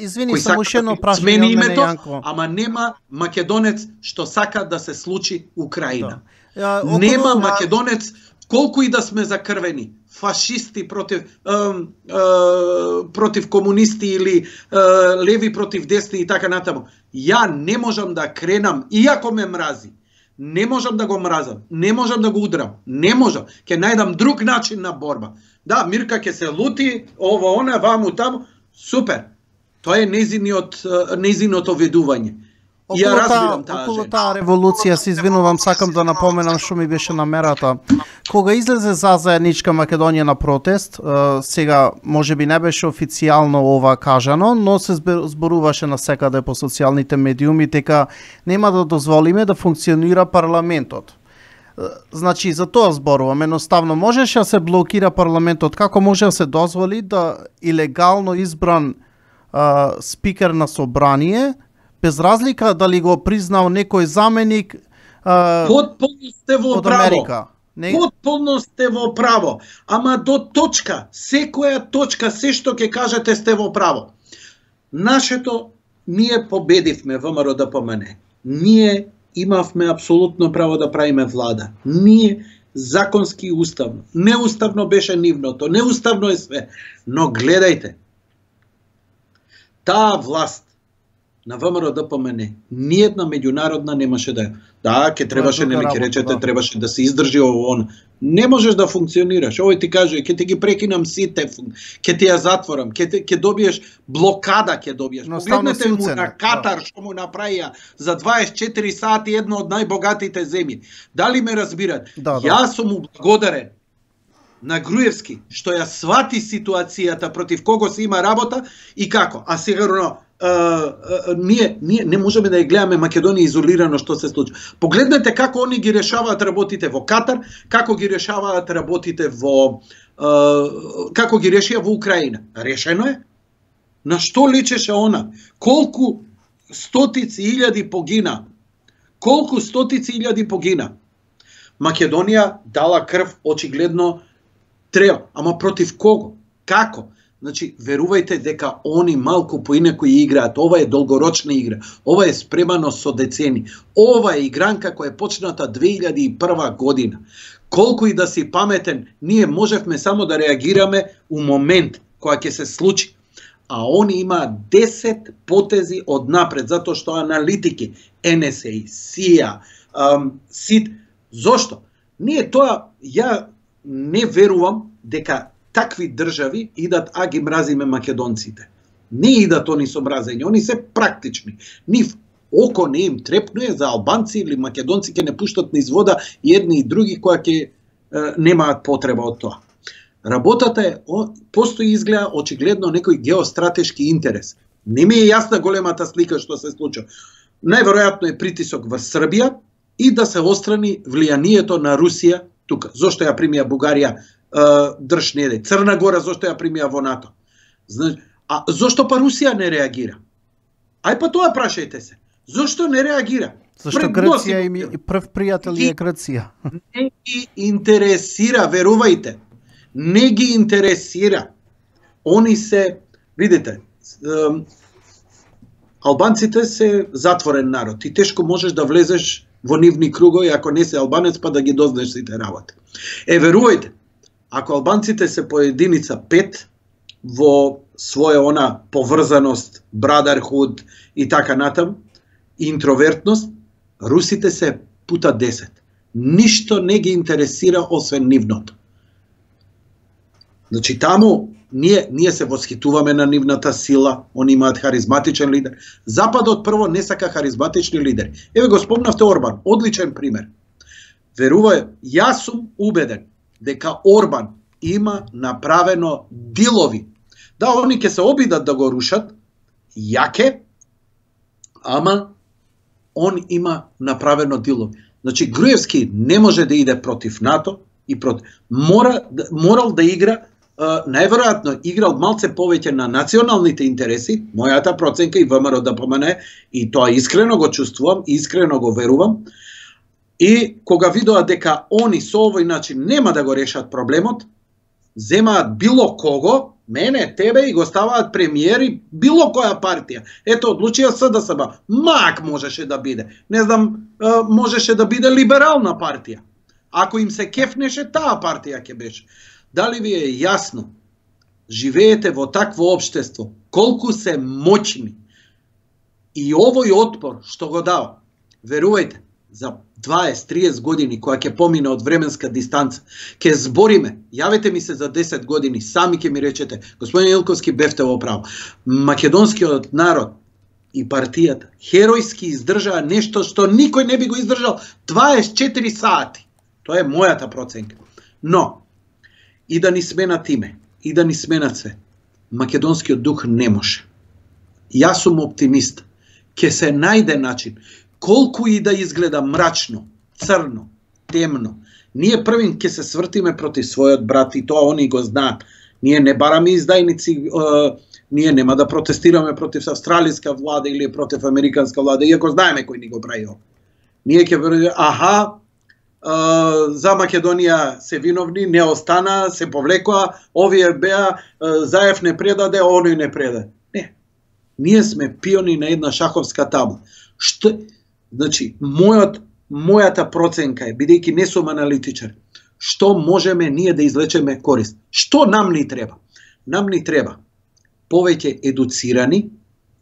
Извини, само уште едно прашање од мене, Јанко. Ама нема македонец што сака да се случи Украина. Да. Нема македонец, колку и да сме закрвени, фашисти против комунисти или леви против десни и така натаму. Ја не можам да кренам, иако ме мрази. Не можам да го мразам, не можам да го удрам, не можам. Ќе најдам друг начин на борба. Да, Мирка ќе се лути, ова, она, ваму, таму, супер. Тоа е нејзиното ведување. Ја разбирам таа околу таа револуција, се извинувам, сакам да напоменам што ми беше намерата. Кога излезе за заедничка Македонија на протест, сега можеби не беше официјално ова кажано, но се зборуваше насекаде по социјалните медиуми дека нема да дозволиме да функционира парламентот. Значи, за тоа зборувам. Едноставно, можеше да се блокира парламентот, како може да се дозволи да илегално избран спикер на собрание, без разлика дали го признал некој заменик Потполно сте во од право. Америка. Потполно сте во право. Ама до точка, секоја точка, се што ќе кажете сте во право. Нашето, ние победивме ВМРО да помене. Ние имавме апсолутно право да правиме влада. Ние законски и уставно. Неуставно беше нивното, неуставно е све. Но гледајте, таа власт на ВМРО ДПМН, ниедна меѓународна немаше да. Да, ке требаше, нели ке речете, требаше да се издржи ово. Не можеш да функционираш. Овој ти каже, ке ти ги прекинам сите, ке ти ја затворам, ке добиеш блокада, ке добиеш. Погледнете му на Катар што му направија за 24 сати една од најбогатите земји. Дали ме разбират? Јас сум му благодарен на Груевски што ја свати ситуацијата против кого се има работа и како. А сигурно ние не можеме да ја гледаме Македонија изолирано што се случи. Погледнете како они ги решаваат работите во Катар, како ги решаваат работите како ги решија во Украина. Решено е. На што личеше она? Колку стотици илјади погина. Колку стотици илјади погина. Македонија дала крв, очигледно треба, ама против кого? Како? Значи, верувајте дека они малку поинаку играат. Ова е долгорочна игра. Ова е спремано со децени. Ова е игранка која е почната 2001 година. Колку и да си паметен, ние можевме само да реагираме у момент која ќе се случи. А они има 10 потези од напред, затоа што аналитики, НСА, СИА, СИД, зошто? Ние тоа, ја не верувам дека такви држави идат, а ги мразиме македонците. Не идат они со мразење, они се практични. Нив око не им трепнуе за албанци или македонци ќе не пуштат низ вода и едни и други кои ќе немаат потреба од тоа. Работата е, постои изгледа очигледно некој геостратешки интерес. Не ми е јасна големата слика што се случува. Најверојатно е притисок во Србија и да се острани влијанието на Русија тука. Зошто ја примија Бугарија држ неде? Црна Гора зошто ја примија во НАТО? А зошто па Русија не реагира? Ај па тоа прашајте се. Зошто не реагира? Зашто Грција и прв пријател е Грција. Не ги интересира, верувајте. Не ги интересира. Они се, видите, албанците се затворен народ и тешко можеш да влезеш во нивни кругови ако не се албанец па да ги дознаеш сите работи. Верувајте, ако албанците се по единица 5 во своја она поврзаност, brotherhood и така натам, интровертност, русите се пута 10. Ништо не ги интересира освен нивното. Значи таму ние се восхитуваме на нивната сила, они имаат харизматичен лидер. Западот прво не сака харизматични лидери. Еве го спомнавте Орбан, одличен пример. Верувај, јас сум убеден дека Орбан има направено дилови. Да, они ќе се обидат да го рушат, јаке, ама он има направено дилови. Значи Груевски не може да иде против НАТО и против. Морал да игра, најверојатно играл малце повеќе на националните интереси, мојата проценка и ВМРО ДПМН, и тоа искрено го чувствувам, искрено го верувам. И кога видоа дека они со овој начин нема да го решат проблемот, земаат било кого, мене, тебе, и го ставаат премиери било која партија. Ето, одлучија СДСМ. Мак можеше да биде. Не знам, можеше да биде либерална партија. Ако им се кефнеше, таа партија ќе беше. Дали ви е јасно? Живеете во такво општество, колку се моćни. И овој отпор што го дава, верувајте, за 20-30 години, која ќе помине од временска дистанца, ќе збориме, јавете ми се за 10 години, сами ќе ми речете, господин Илковски, бевте во право, македонскиот народ и партијата херојски издржаа нешто што никој не би го издржал 24 сати. Тоа е мојата проценка. Но, и да ни сменат име, и да ни сменат се, македонскиот дух не може. Јас сум оптимист. Ќе се најде начин, колку и да изгледа мрачно, црно, темно, ние првин ќе се свртиме против својот брат и тоа они го знаат. Ние не бараме издајници, ние нема да протестираме против австралиска влада или против американска влада, иако знаеме кој ни го прави ова. Ние ќе веруваме, за Македонија се виновни, не остана, се повлекоа, овие беа, Заев не предаде, оној не предаде. Не. Ние сме пиони на една шаховска табла. Значи, мојата проценка е, бидејќи не сум аналитичар, што можеме ние да извлечеме корист? Што нам ни треба? Нам ни треба повеќе едуцирани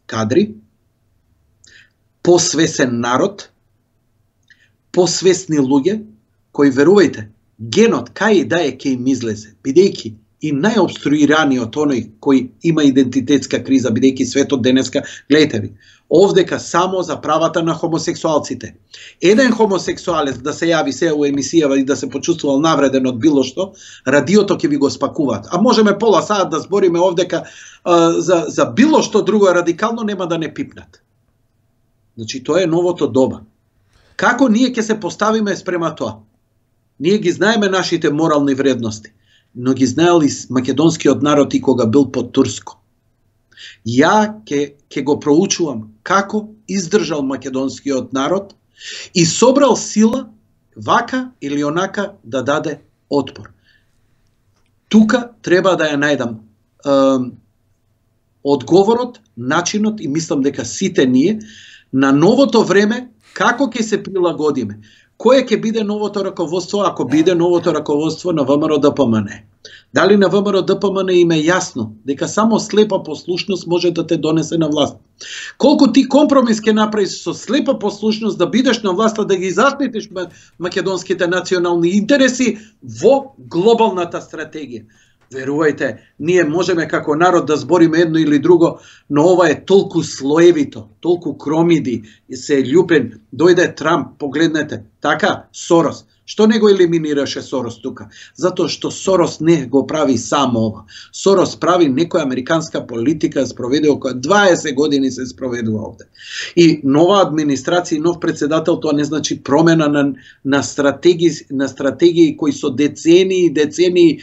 кадри, посвесен народ, посвесни луѓе, кои, верувајте, генот кај и да е ке им излезе, бидејќи и најобструираниот оној кој има идентитетска криза, бидејќи светот денеска, гледате ви, овдека само за правата на хомосексуалците. Еден хомосексуалец да се јави се у емисијава и да се почувствувал навреден од било што, радиото ќе ви го спакуваат. А можеме пола саат да збориме овдека за било што друго радикално, нема да не пипнат. Значи, тоа е новото доба. Како ние ќе се поставиме спрема тоа? Ние ги знаеме нашите морални вредности, но ги знаели македонскиот народ и кога бил под турско. Ја ќе го проучувам како издржал македонскиот народ и собрал сила вака или онака да даде отпор. Тука треба да ја најдам одговорот, начинот и мислам дека сите ние на новото време како ќе се прилагодиме. Кое ќе биде новото раководство ако биде новото раководство на ВМРО-ДПМН? Дали на ВМРО-ДПМН им е јасно дека само слепа послушност може да те донесе на власт? Колку ти компромис ќе направиш со слепа послушност да бидеш на власта, да ги заштитиш македонските национални интереси во глобалната стратегија? Верувајте, ние можеме како народ да збориме едно или друго, но ова е толку слоевито, толку кромиди, и се љупен, дојде Трамп, погледнете, така, Сорос. Што не го елиминираше Сорос тука? Затоа што Сорос не го прави само ова. Сорос прави некоја американска политика, спроведе околу 20 години се спроведува овде. И нова администрација и нов председател, тоа не значи промена на стратегии кои со децении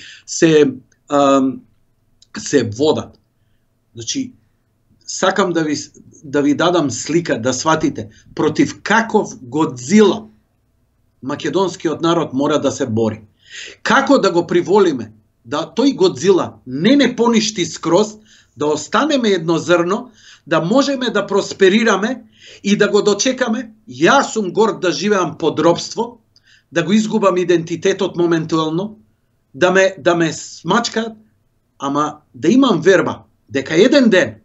се водат. Значи, сакам да ви дадам слика, да сватите против каков Годзила македонскиот народ мора да се бори. Како да го приволиме да тој Годзила не поништи скроз, да останеме едно зрно, да можеме да просперираме и да го дочекаме. Јас сум горд да живеам под робство, да го изгубам идентитетот моментално, да ме смачкаат, ама да имам верба дека еден ден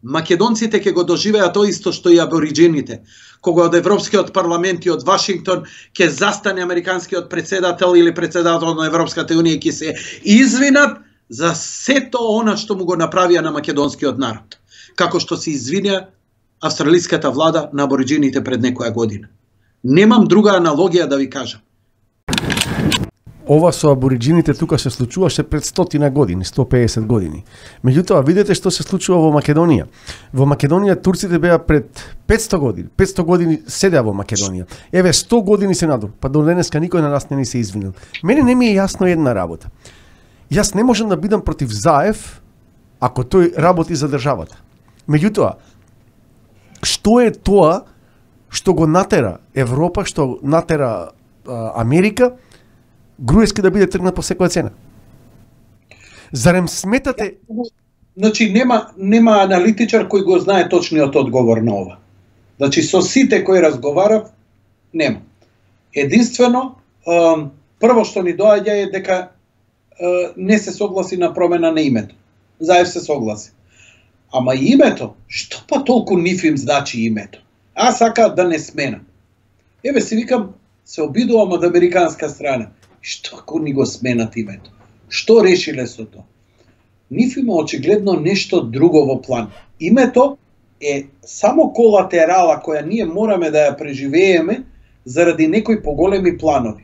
македонците ќе го доживеат тоа исто што и абориджините, кога од Европскиот парламент и од Вашингтон ќе застане американскиот председател или председател на Европската унија, ќе се извинат за сето она што му го направија на македонскиот народ, како што се извинија австралиската влада на абориджините пред некоја година. Немам друга аналогија да ви кажам. Ова со абориджините тука се случуваше пред 100 години, 150 години. Меѓутоа, видете што се случува во Македонија. Во Македонија турците беа пред 500 години. 500 години седеа во Македонија. Еве 100 години се надор, па до денеска никој на нас не ни се извинил. Мене не ми е јасно една работа. Јас не можам да бидам против Заев ако тој работи за државата. Меѓутоа, што е тоа што го натера Европа, што натера Америка, Груевски да биде тргнат по секоја цена? Зарем сметате? Значи, нема аналитичар кој го знае точниот одговор на ова. Значи, со сите кои разговарав, нема. Единствено, прво што ни доаѓа е дека не се согласи на промена на името. Заев се согласи. Ама името, што па толку ниф им значи името? Аз сакаат да не сменам. Еве си викам, се обидувам од американска страна. Што ако ни го сменат името? Што решиле со тоа? Ниф има очигледно нешто друго во план. Името е само колатерала која ние мораме да ја преживееме заради некои поголеми планови.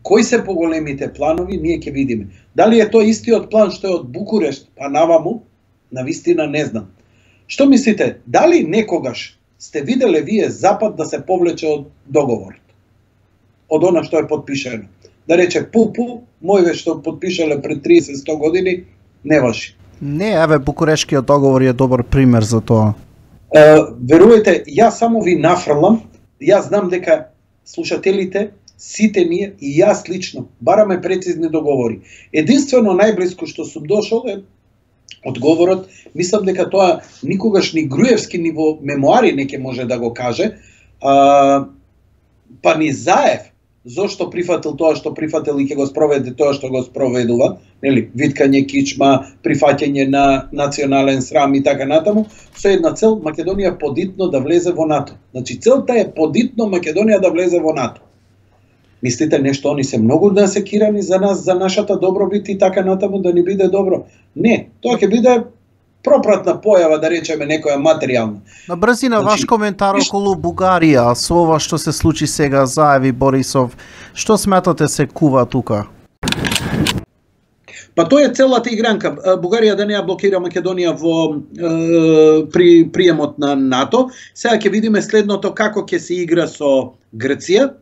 Кои се поголемите планови, ние ќе видиме. Дали е тоа истиот план што е од Букурешт па наваму, навистина не знам. Што мислите, дали некогаш сте виделе вие Запад да се повлече од договорот? Од она што е подпишено? Да рече пу, мојве што подпишале пред 30-100 години, не важи. Не, еве Букурешкиот договор е добар пример за тоа. Верувајте, јас само ви нафрлам, јас знам дека слушателите, сите ние и јас лично бараме прецизни договори. Единствено најблиско што сум дошол е одговорот, мислам дека тоа никогаш ни Груевски ни во мемуари не ќе може да го каже, па ни Заев. зошто прифатил тоа што прифатил и ќе го спроведе тоа што го спроведува, нели, виткање кичма, прифаќање на национален срам и така натаму, со една цел Македонија подитно да влезе во НАТО. Значи целта е подитно Македонија да влезе во НАТО. Мислите нешто они се многу насекирани за нас, за нашата добробит и така натаму да ни биде добро? Не, тоа ќе биде пропратна појава, да речеме, некоја материјална. На брзина, ваш коментар околу Бугарија, со ова што се случи сега, заяви Борисов, што сметате се кува тука? Па тоа е целата игранка. Бугарија да не ја блокира Македонија при приемот на НАТО. Сега ќе видиме следното, како ќе се игра со Грција,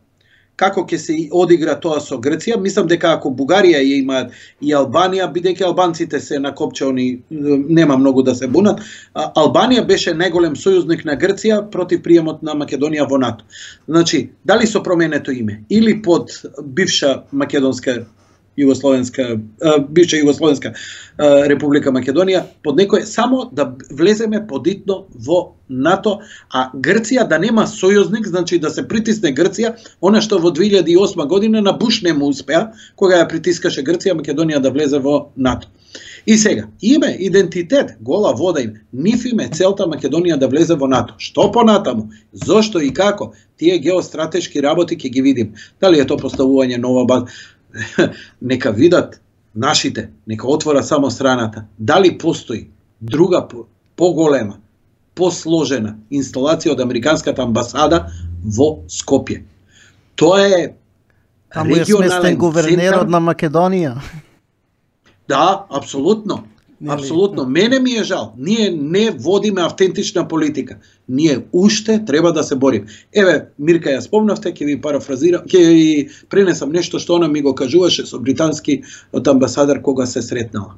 како ќе се одигра тоа со Грција. Мислам дека ако Бугарија ја има и Албанија, бидејќи албанците се накопчени, нема многу да се бунат, Албанија беше најголем сојузник на Грција против приемот на Македонија во НАТО. Значи, дали со променето име или под бивша македонска бивша Југословенска Република Македонија, под некој само да влеземе подитно во НАТО, а Грција да нема сојузник, значи да се притисне Грција, она што во 2008 година на Буш не му успеа, кога ја притискаше Грција, Македонија да влезе во НАТО. И сега, име, идентитет, гола вода им, ниф име целта Македонија да влезе во НАТО. Што понатаму? Зошто и како? Тие геостратешки работи ќе ги видим. Дали е тоа поставување нова база? Нека видат нашите, нека отвора само страната. Дали постои друга поголема, посложена инсталација од американската амбасада во Скопје? Тоа е таму е сместен гувернерот на Македонија. Да, апсолутно. Апсолутно. Мене ми е жал. Ние не водиме автентична политика. Ние уште треба да се борим. Еве, Мирка ја спомнавте, ќе ви парафразирам, ќе ви пренесам нешто што она ми го кажуваше со британски од амбасадар кога се сретнала.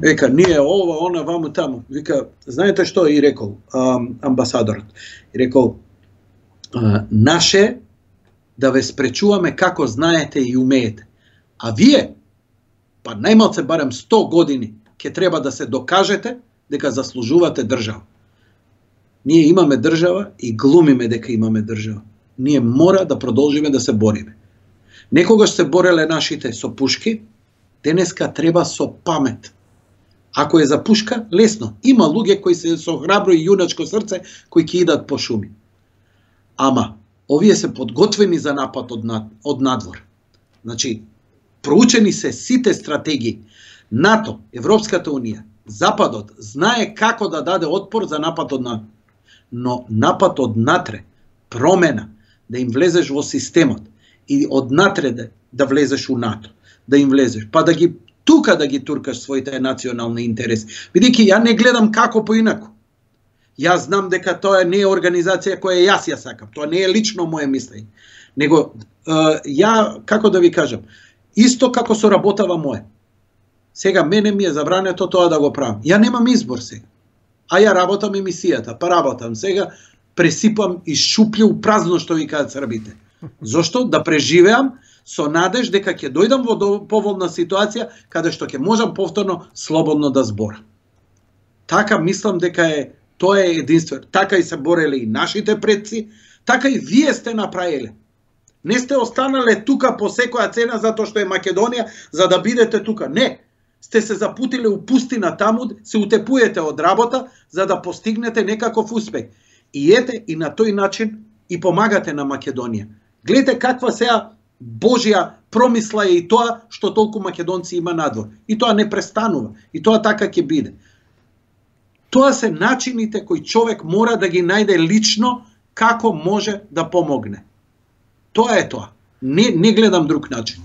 Века, ние ова, она, ваму, таму. Вика, знаете што и рекол амбасадорот? И рекол, наше да ве спречуваме како знаете и умеете. А вие, па најмалце барем 100 години, ќе треба да се докажете дека заслужувате држава. Ние имаме држава и глумиме дека имаме држава. Ние мора да продолжиме да се бориме. Некогаш се бореле нашите со пушки, денеска треба со памет. Ако е за пушка, лесно. Има луѓе кои се со храбро и јуначко срце кои ќе идат по шуми. Ама, овие се подготвени за напад од надвор. Значи, проучени се сите стратегии. НАТО, Европската унија, Западот знае како да даде отпор за напад од НАТО. Но напад од натре, промена, да им влезеш во системот и од натре да влезеш у НАТО, да им влезеш, па да ги тука да ги туркаш своите национални интереси. Бидејќи ја не гледам како поинаку. Јас знам дека тоа не е организација која јас ја сакам, тоа не е лично моје мислење. Него ја, како да ви кажам, исто како соработава моје. Сега мене ми е забрането тоа да го правам. Ја немам избор сега. А ја работам емисијата, па работам. Сега пресипам и шуплју празно, што ви кажат србите. Зошто? Да преживеам со надеж дека ќе дојдам во поволна ситуација каде што ќе можам повторно слободно да зборам. Така мислам дека тоа е единствено. Така и се бореле и нашите предци, така и вие сте направиле. Не сте останале тука по секоја цена затоа што е Македонија за да бидете тука. Не. Сте се запутиле у пустина таму, се утепуете од работа за да постигнете некаков успех. И ете, и на тој начин и помагате на Македонија. Гледате каква сега Божја промисла е и тоа што толку македонци има надвор. И тоа не престанува. И тоа така ќе биде. Тоа се начините кои човек мора да ги најде лично како може да помогне. Тоа е тоа. Не гледам друг начин.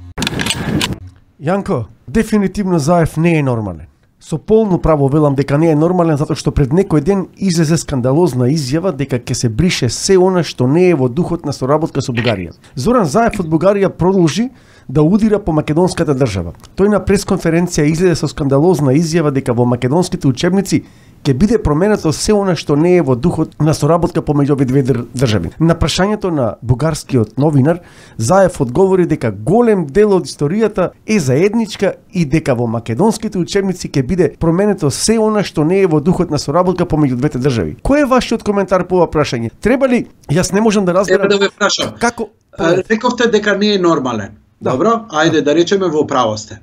Јанко, дефинитивно Заев не е нормален. Со полно право велам дека не е нормален затоа што пред некој ден излезе скандалозна изјава дека ќе се брише се она што не е во духот на соработка со Бугарија. Зоран Заев од Бугарија продолжи да удира по македонската држава. Тој на пресконференција излезе со скандалозна изјава дека во македонските учебници ќе биде променето се она што не е во духот на соработка помеѓу овие две држави. На прашањето на бугарскиот новинар, Заев одговори дека голем дел од историјата е заедничка и дека во македонските учебници ќе биде променето се она што не е во духот на соработка помеѓу двете држави. Кој е вашиот коментар по ова прашање? Треба ли, јас не можам да разберам да ве прашам. Како Рековте дека не е нормален. Добро, ајде да речеме во право сте.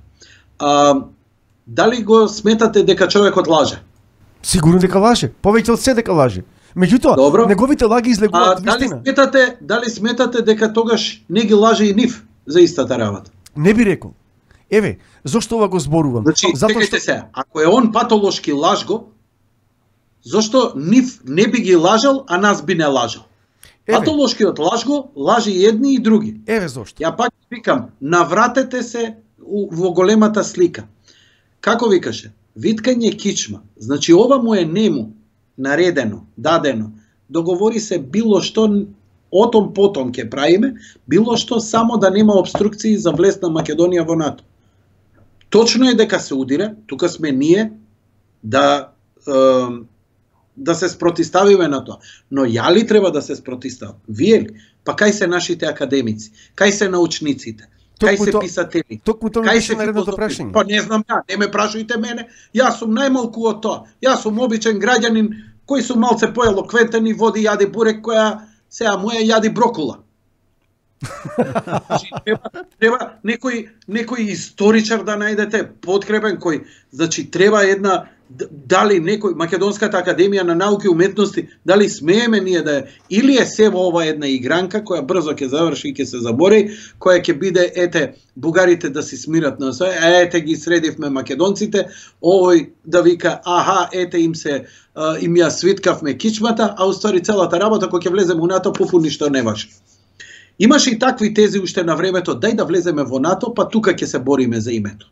Дали го сметате дека човекот лаже? Сигурно дека лаже, повеќе од се дека лаже. Меѓутоа, неговите лаги излегуваат вистина. Дали сметате дека тогаш не ги лаже и нив за истата работа? Не би рекол. Еве, зошто ова го зборувам? Значи, чекајте се, ако е он патолошки лажго, зошто нив не би ги лажал, а нас би не лажал? Патолошкиот лажго лажи и едни и други. Еве зошто. Ја пак викам, навратете се во големата слика. Како викаше? Виткање кичма. Значи ова му е нему наредено, дадено. Договори се било што отом потом ќе правиме, било што само да нема обструкции за влез на Македонија во НАТО. Точно е дека се удира, тука сме ние да се спротиставиме на тоа. Но ја ли треба да се спротиставам? Вие ли? Па кај се нашите академици? Кај се научниците? Кај се писатели? Кај се филозофи? Па не знам ја, не ме прашајте мене. Јас сум најмалку од тоа. Јас сум обичен граѓанин кој сум малце поелоквентен и води јади бурек која сега му е јади брокула. Треба некој историчар да најдете подкрепен кој, значи треба една, дали некој Македонската академија на науки и уметности, дали смееме ние да е, или е се во ова една игранка која брзо ќе заврши и ќе се забори, која ќе биде ете бугарите да си смират на све, ете ги средивме македонците, овој да вика аха ете им ја свиткавме кичмата, а уствари целата работа кога ќе влеземе во НАТО пуфу ништо не важи. Имаше и такви тези уште на времето, дај да влеземе во НАТО, па тука ќе се бориме за името.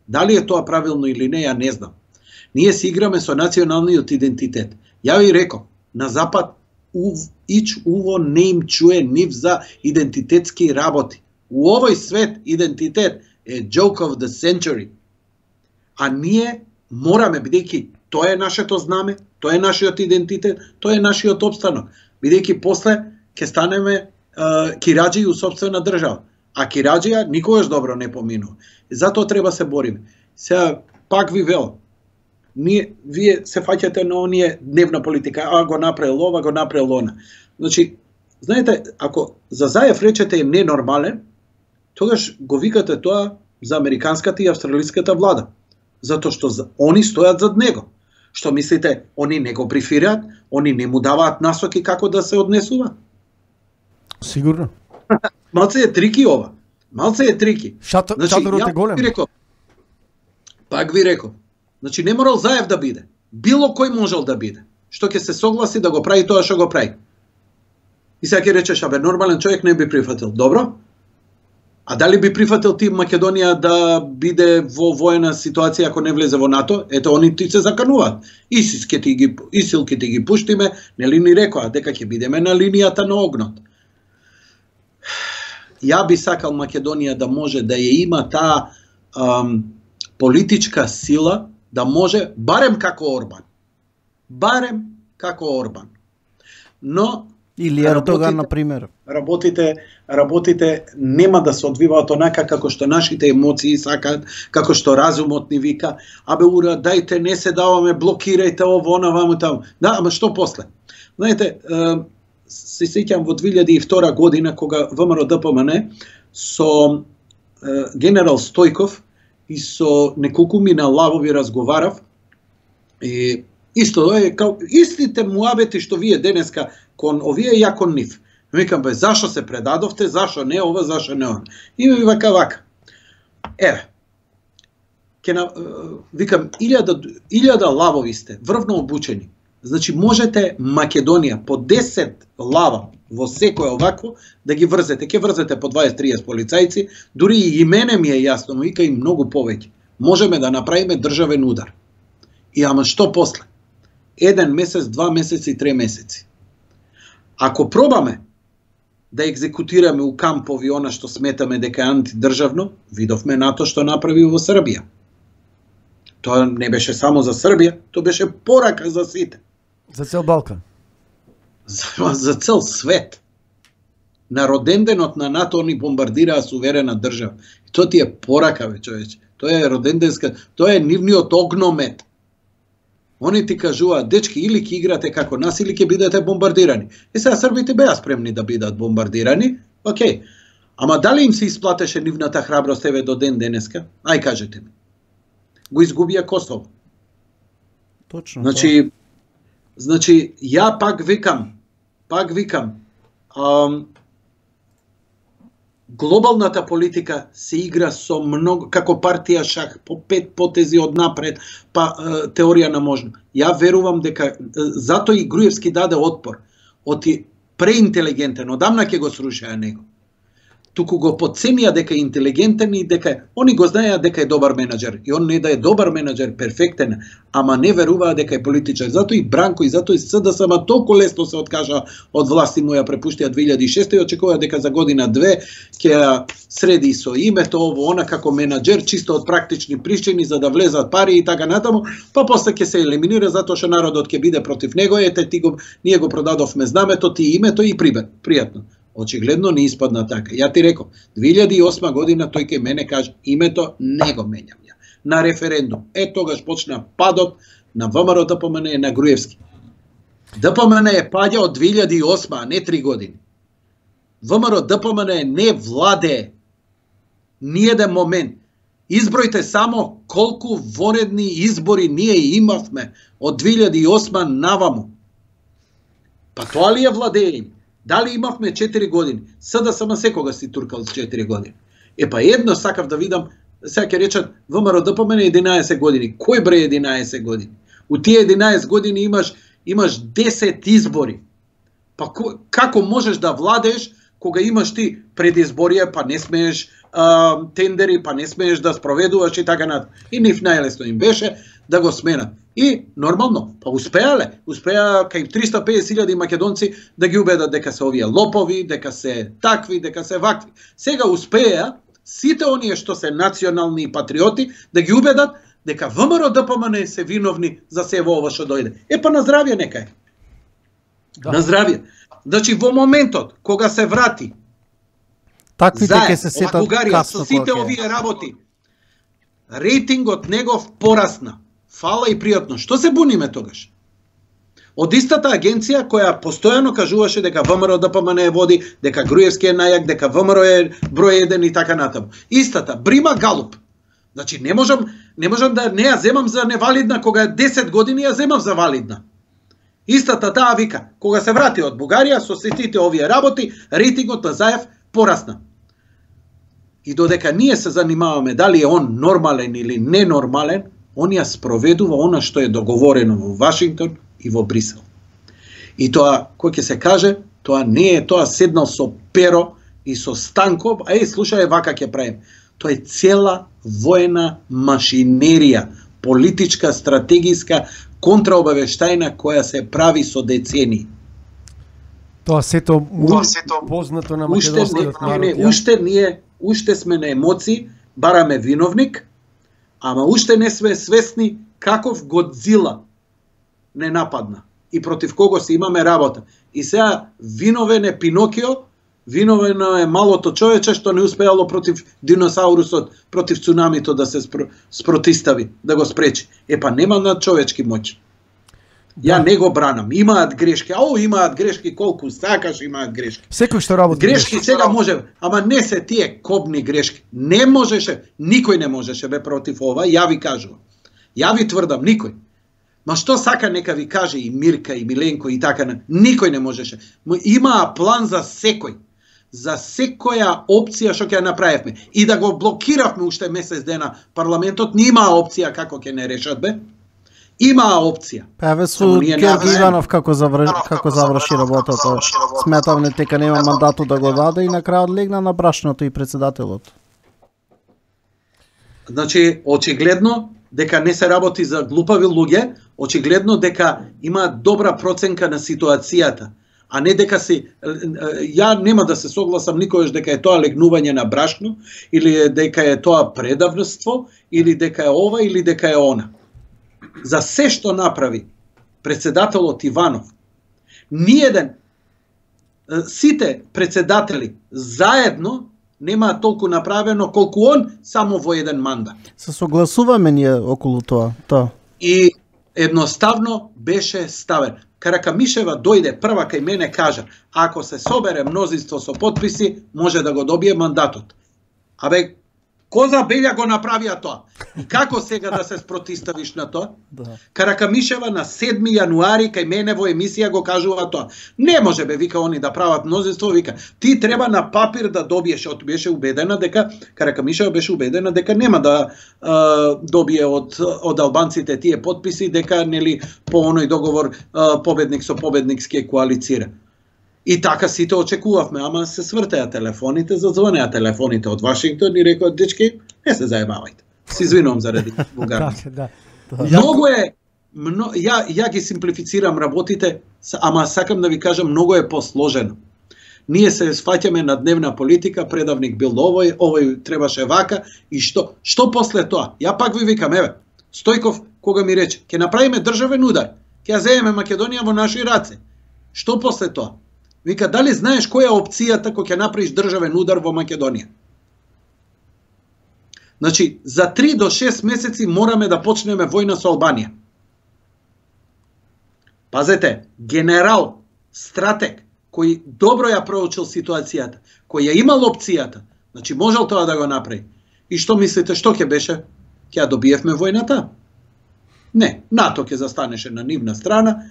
Дали е тоа правилно или не, ја не знам. Ние си играме со националниот идентитет. Ја ви реков, на Запад уво не им чуе нив за идентитетски работи. У овој свет идентитет е joke of the century. А ние мораме, бидејќи тоа е нашето знаме, тоа е нашиот идентитет, тоа е нашиот опстанок. Бидејќи после ќе станеме кираџи у сопствена држава. А кираџија никогаш добро не поминува. Затоа треба се бориме. Сега пак ви велам, вие се фаќате на оние дневна политика, го направил ова, го направил она. Значи, знаете, ако за Заев речете е ненормален, тогаш го викате тоа за американската и австралиската влада. Затоа што они стојат зад него. Што мислите, они не го брифираат, они не му даваат насоки како да се однесува? Сигурно. Малце е трики ова. Малце е трики. Шаторот е голем. Пак ви реков. Значи не морал Заев да биде. Било кој можел да биде. Што ќе се согласи да го прави тоа што го прави. И сега ќе речеш, абе нормален човек не би прифатил. Добро? А дали би прифатил ти Македонија да биде во воена ситуација ако не влезе во НАТО? Ето они ти се закануваат. Исил ќе ти ги пуштиме, нели ни рекоа дека ќе бидеме на линијата на огнот. Ја би сакал Македонија да може да ја има таа политичка сила, да може, барем како Орбан. Барем како Орбан. Но или Ердоган, например. Работите нема да се одвиваат онака како што нашите емоции сакаат, како што разумот ни вика, абе ура, дајте, не се даваме, блокирајте ово, она, ваму, таму. Да, ама што после? Знаете, се сеќам во 2002 година, кога ВМРО ДПМН со генерал Стојков и со неколкумина лавови разговарав, и исто е као истите муабети што вие денеска кон овие ја кон нив. Викам, бе, зашо се предадовте, зашо не ова, зашо не ова. И ми вака. Еве, викам, 1000 лавови сте, врвно обучени. Значи, можете Македонија по 10 лава во секој овакво да ги врзете. Ке врзете по 20-30 полицајци, дури и мене ми е јасно, но вика и многу повеќе. Можеме да направиме државен удар. И ама што после? 1 месец, 2 месеци, 3 месеци. Ако пробаме да екзекутираме у кампови она што сметаме дека е антидржавно, видовме НАТО што направи во Србија. Тоа не беше само за Србија, тоа беше порака за сите. За цел Балкан. За цел свет. На роденденот на НАТО они бомбардираа суверена држава. И тоа ти е порака, бе, човече. Тоа е роденденска, тоа е нивниот огномет. Они ти кажуваат, дечки, или ќе играте како нас, или ќе бидете бомбардирани. И сега србите беа спремни да бидат бомбардирани, Океј. Ама дали им се исплатеше нивната храброст еве до ден денеска? Ај кажете ми. Го изгубија Косово. Точно. Значи, ја пак викам, глобалната политика се игра со многу, како партија шах, по 5 потези од напред, па теорија на можно. Ја верувам дека, затоа и Груевски даде отпор, оти преинтелигентен, одамна ќе го срушеа него. Туку го подценија дека е интелигентен и дека они го знаеа дека е добар менаџер. И он не да е добар менаџер, перфектен, ама не веруваа дека е политичар. Затоа и Бранко и затоа и СДСМ толку лесно се откажа од власт и му ја препуштија 2006 и очекува дека за година-две ќе ја среди со името ово она како менаџер чисто од практични причини за да влезат пари и така натаму, па после ќе се елиминира затоа што народот ќе биде против него. Ете ние го продадовме знамето, ти името и пријатно. Очигледно не испадна така. Ја ти реков, 2008 година тој ке мене каже, името не го менјам ја. На референдум. Тогаш почна падот на ВМРО ДПМН на Груевски. ДПМН е паѓа од 2008, а не 3 години. ВМРО ДПМН не владее ниеден момент. Избројте само колку воредни избори ние имавме од 2008 наваму. Па тоа ли е владење? Дали имавме 4 години? СДСМ секога си туркал 4 години. Па едно сакав да видам, сега ќе речат ВМРО ДПМН 11 години. Кој бре 11 години? У тие 11 години имаш 10 избори. Па како можеш да владееш кога имаш ти предизборија, па не смееш тендери, па не смееш да спроведуваш и така натаму. И нив најлесно им беше да го сменат. И нормално, па успеале кај 350.000 македонци да ги убедат дека се овие лопови, дека се такви, дека се вакви. Сега успеа сите оние што се национални и патриоти да ги убедат дека ВМРО ДПМН се виновни за се ова што дојде. Па на здравје нека е. Да. На здравје. Значи во моментот кога се врати таквите ќе се сетат Бугарија со сите овие работи, рейтингот негов порасна. Фала и пријатно. Што се буниме тогаш? Од истата агенција која постојано кажуваше дека ВМРО ДПМН е води, дека Груевски е најак, дека ВМРО е број 1 и така натаму. Истата, Брима Галуп. Значи не можам да не ја земам за невалидна кога 10 години ја земав за валидна. Истата таа вика, кога се врати од Бугарија со сите овие работи, рейтингот на Заев порасна. И додека ние се занимаваме дали е он нормален или ненормален, он ја спроведува она што е договорено во Вашингтон и во Брисел. И тоа, кој ќе се каже, тоа не е тоа седнал со перо и со станков, слушај, вака ќе правим. Тоа е цела воена машинерија, политичка, стратегиска, контраобавештајна која се прави со децении. Тоа сето познато на македонскиот народ. Уште сме на емоции, бараме виновник, ама уште не сме свесни каков Годзила не нападна и против кого се имаме работа. И сега виновен е Пинокио, виновено е малото човече што не успеало против диносаурусот, против цунамито да се спротистави, да го спречи. Па нема над човечки моќ. Ја не го бранам. Имаат грешки. Имаат грешки колку сакаш, имаат грешки. Секој што работи грешки сега може, ама не се тие кобни грешки. Не можеше, никој не можеше бе против ова, ја ви кажувам. Ја ви тврдам, никој. Ма што сака нека ви каже и Мирка и Миленко и така, никој не можеше. Имаа план за секој. За секоја опција што ќе ја направивме. И да го блокиравме уште месец дена парламентот, не имаа опција како ќе не решат бе. Имаа опција. Еве со Георги Иванов како заврши работата. Сметав не дека нема мандатот да го даде и на крајот легна на брашното и председателот. Значи, очигледно дека не се работи за глупави луѓе, очигледно дека има добра проценка на ситуацијата, а не дека ја нема да се согласам никогаш дека е тоа легнување на брашно, или дека е тоа предавноство, или дека е ова, или дека е она. За се што направи председателот Иванов, ниеден, сите председатели заедно нема толку направено колку он само во еден мандат. Се согласуваме ние околу тоа. И едноставно беше ставен. Каракамишева дојде прва кај мене кажа, ако се собере мнозинство со потписи, може да го добие мандатот. Абе, Коза Белја го направија тоа. И како сега да се спротиставиш на тоа? Каракамишева на 7 јануари кај мене во емисија го кажува тоа. Не може бе, вика, они да прават мнозинство, вика, ти треба на папир да добиеш, беше убедена дека, Каракамишева беше убедена дека нема да добие од албанците тие потписи, дека нели по оној договор победник со победник ќе коалицира. И така сите очекувавме, ама се свртеа телефоните, зазвонеа телефоните од Вашингтон и рекоа, дечки, не се заебавајте. Се извинувам заради вулгарност. Многу е, ја ги симплифицирам работите, ама сакам да ви кажам, многу е посложено. Ние се сфаќаме на дневна политика, предавник бил овој требаше вака, и што? Што после тоа? Ја пак ви викам, еве, Стојков, кога ми рече, ќе направиме државен удар, ќе ја земеме Македонија во наши раце. Што после тоа? Вика, дали знаеш која е опцијата кога ќе направиш државен удар во Македонија? Значи, за 3 до 6 месеци мораме да почнеме војна со Албанија. Пазете, генерал, стратег, кој добро ја проучил ситуацијата, кој ја имал опцијата, значи можел тоа да го направи. И што мислите, што ќе беше? Ќе ја добиевме војната? Не, НАТО ќе застанеше на нивна страна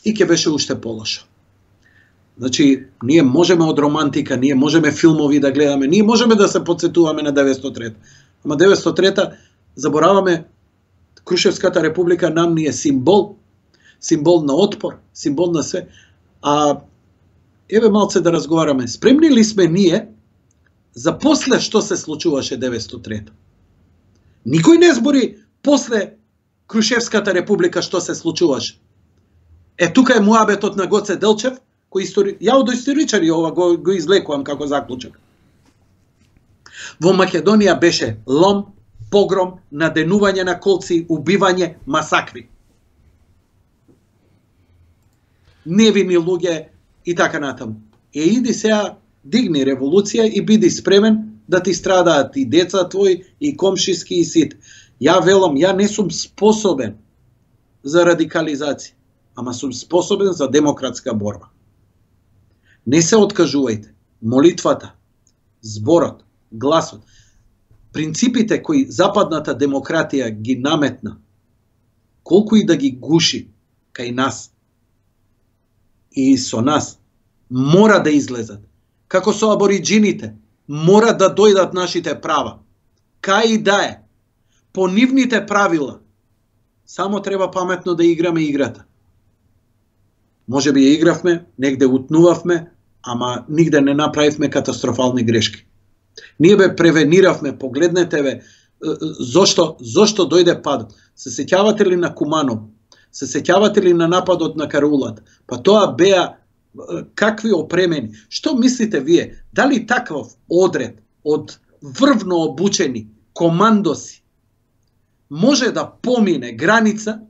и ќе беше уште полошо. Значи, ние можеме од романтика, ние можеме филмови да гледаме, ние можеме да се подсетуваме на 903. Ама 903 забораваме, Крушевската република нам ни е символ на отпор, символ на све. А еве малце да разговараме, спремни ли сме ние за после што се случуваше 903? Никој не збори после Крушевската република што се случуваше. Тука е муабетот на Гоце Делчев, ја од историчари ова го излекувам како заклучок. Во Македонија беше лом, погром, наденување на колци, убивање, масакри. Невини луѓе и така натаму. Иди сега, дигни револуција и биди спремен да ти страдаат и деца твои, и комшиски, и сите. Ја велам, ја не сум способен за радикализација, ама сум способен за демократска борба. Не се откажувајте. Молитвата, зборот, гласот, принципите кои западната демократија ги наметна, колку и да ги гуши кај нас и со нас, мора да излезат. Како со абориджините, мора да дојдат нашите права. Кај и да е, по нивните правила, само треба паметно да играме играта. Може би ја игравме, негде утнувавме, ама нигде не направивме катастрофални грешки. Ние бе превениравме, погледнете бе, зошто дојде падот. Се сеќавате ли на Куманов? Се сеќавате ли на нападот на Караулат? Па тоа беа какви опремени. Што мислите вие? Дали таков одред од врвно обучени командоси може да помине граница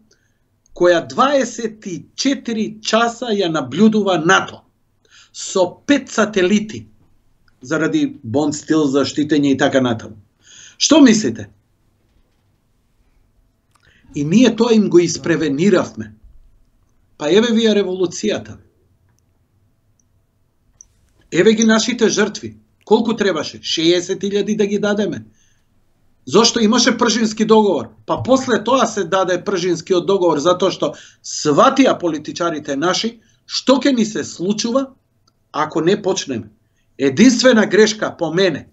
која 24 часа ја наблюдува НАТО со 5 сателити заради бонд стил, заштитење и така натаму? Што мислите? И ние тоа им го испревениравме. Па еве вие револуцијата. Еве ги нашите жртви. Колку требаше? 60.000 да ги дадеме. Зошто имаше Пржински договор? Па после тоа се даде Пржинскиот договор, затоа што сватија политичарите наши што ќе ни се случува ако не почнеме. Единствена грешка по мене,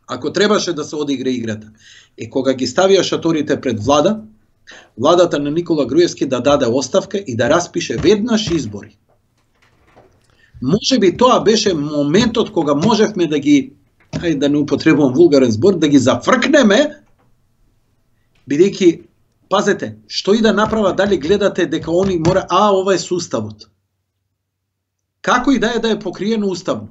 ако требаше да се одигре играта, е кога ги ставија шаторите пред владата на Никола Груевски да даде оставка и да распише веднаш избори. Може би тоа беше моментот кога можевме да ги, ајде да не употребувам вулгарен збор, да ги зафркнеме, бидејќи, пазете, што и да направа, дали гледате дека они мора, ова е суставот. Како и да е покриено уставно.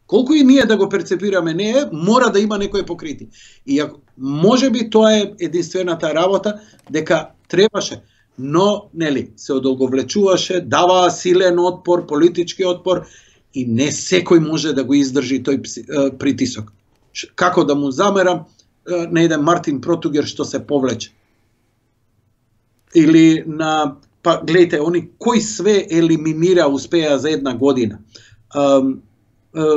Колку и ние да го перцепираме не е, мора да има некој покрити. И може би тоа е единствената работа, дека требаше, но нели се одолговлечуваше, даваа силен отпор, политички отпор и не секој може да го издржи тој притисок. Како да му замерам на еден Мартин Протугер што се повлече. Или на па гледайте, они кој све елиминира, успеа за една година.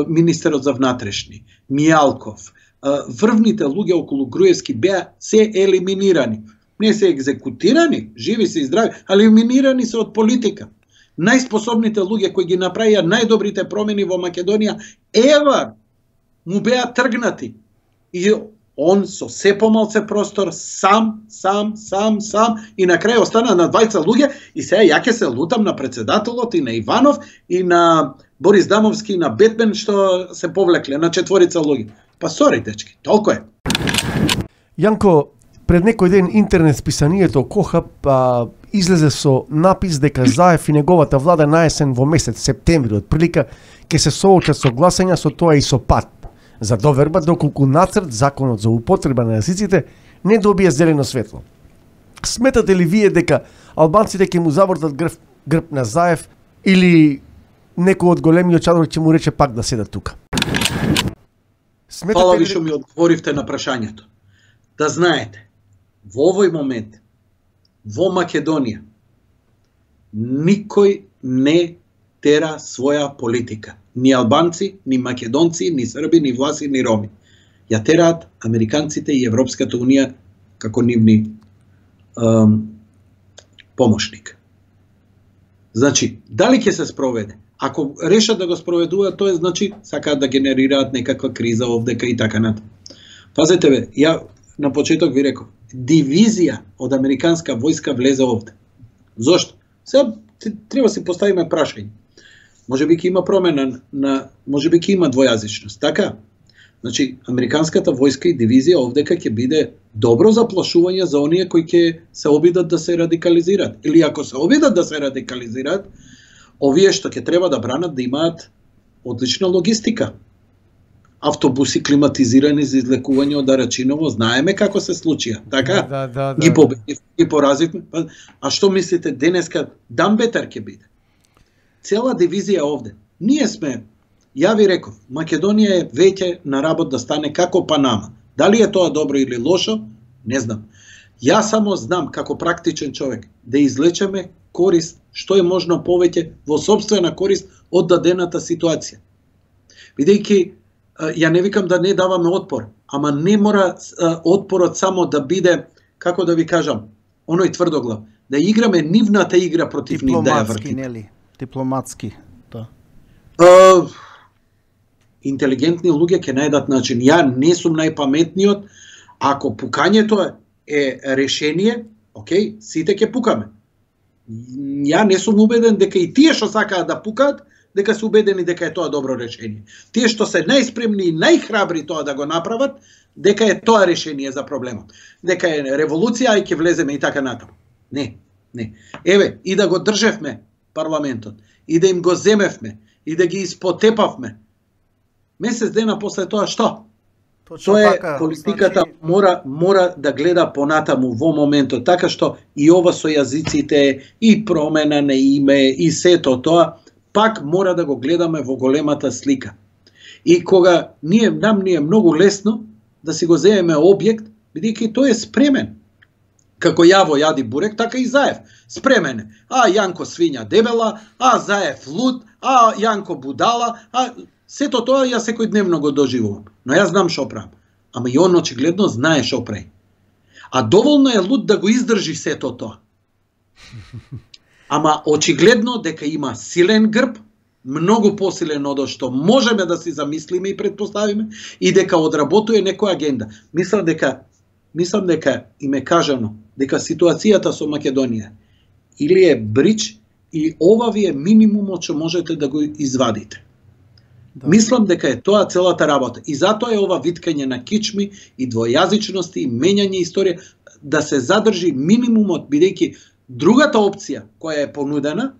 Министерот за внатрешни, Мијалков, врвните луѓе околу Груевски беа се елиминирани. Не се екзекутирани, живи се и здрави, али елиминирани се од политика. Најспособните луѓе кои ги направија најдобрите промени во Македонија, ева, му беа тргнати. И он со се помалце простор, сам, и на крај остана на двајца луѓе, и сега ја ќе се лутам на председателот и на Иванов и на Борис Дамовски, и на Бетмен што се повлекле на четворица луѓе. Па сори, дечки, толку е. Јанко, пред некој ден интернет списанието Кохап излезе со напис дека Заев и неговата влада наесен во месец септември отприлика ќе се соочат со гласања со тоа и со ПАТ за доверба доколку нацрт законот за употреба на јазиците не добие зелено светло. Сметате ли вие дека албанците ќе му завртат грб на Заев или некој од големиот чадор ќе му рече пак да седат тука? Фала ви што ми одговоривте на прашањето. Да знаете, во овој момент, во Македонија, никој не тера своја политика. Ни албанци, ни македонци, ни срби, ни власи, ни роми. Ја тераат американците и Европската унија како нивни помошник. Значи, дали ќе се спроведе? Ако решат да го спроведуваат, тоа значи сакаат да генерираат некаква криза овдека и така натаму. Пазете бе, ја на почеток ви реков, дивизија од американска војска влезе овде. Зошто? Сега треба си поставиме прашање. Може би ќе има промена може би ќе има двојазичност, така? Значи, американската војска и дивизија овдека ќе биде добро заплашување за оние кои ќе се обидат да се радикализираат. Или ако се обидат да се радикализираат, овие што ќе треба да бранат да имаат одлична логистика. Автобуси климатизирани за излекување од Арачиново, знаеме како се случија, така? Да. Ги победивме, ги поразивме. А што мислите денеска дамбетар ќе биде? Цела дивизија овде. Ние сме, ја ви реков, Македонија е веќе на работ да стане како Панама. Дали е тоа добро или лошо? Не знам. Ја само знам како практичен човек да извлечеме корист што е можно повеќе во сопствена корист од дадената ситуација. Бидејќи ја не викам да не даваме отпор, ама не мора отпорот само да биде, како да ви кажам, оној тврдоглав, да играме нивната игра против нив, да ја вртиме. Нели? Дипломатски, да. Интелигентни луѓе ќе најдат начин. Ја не сум најпаметниот, ако пукањето е решение, окей, сите ќе пукаме. Ја не сум убеден дека и тие што сакаат да пукаат, дека се убедени дека е тоа добро решение. Тие што се најспремни и најхрабри тоа да го направат, дека е тоа решение за проблемот. Дека е револуција и ќе влеземе и така натаму. Не. Еве, и да го држевме парламентот, и да им го земевме, и да ги испотепавме. Месец дена после тоа што? Тоа е политиката, мора да гледа понатаму во моментот, така што и ова со јазиците, и промена на име, и сето тоа, пак мора да го гледаме во големата слика. И кога нам е многу лесно да си го земеме објект, бидејќи тој е спремен. Како Јаво јади бурек, така и Заев. Спремен е. А Јанко свиња дебела, а Заев луд, а Јанко будала, а сето тоа ја секојдневно го доживувам. Но јас знам шо правам. Ама и он очигледно знае шо прави. А доволно е луд да го издржи сето тоа. Ама очигледно дека има силен грб, многу посилен од што можеме да си замислиме и предпоставиме, и дека одработува некоја агенда. Мислам дека им е кажано дека ситуацијата со Македонија или е брич, и ова ви е минимумот што можете да го извадите. Да. Мислам дека е тоа целата работа. И затоа е ова виткање на кичми и двојазичности и мењање историја да се задржи минимумот, бидејќи другата опција која е понудена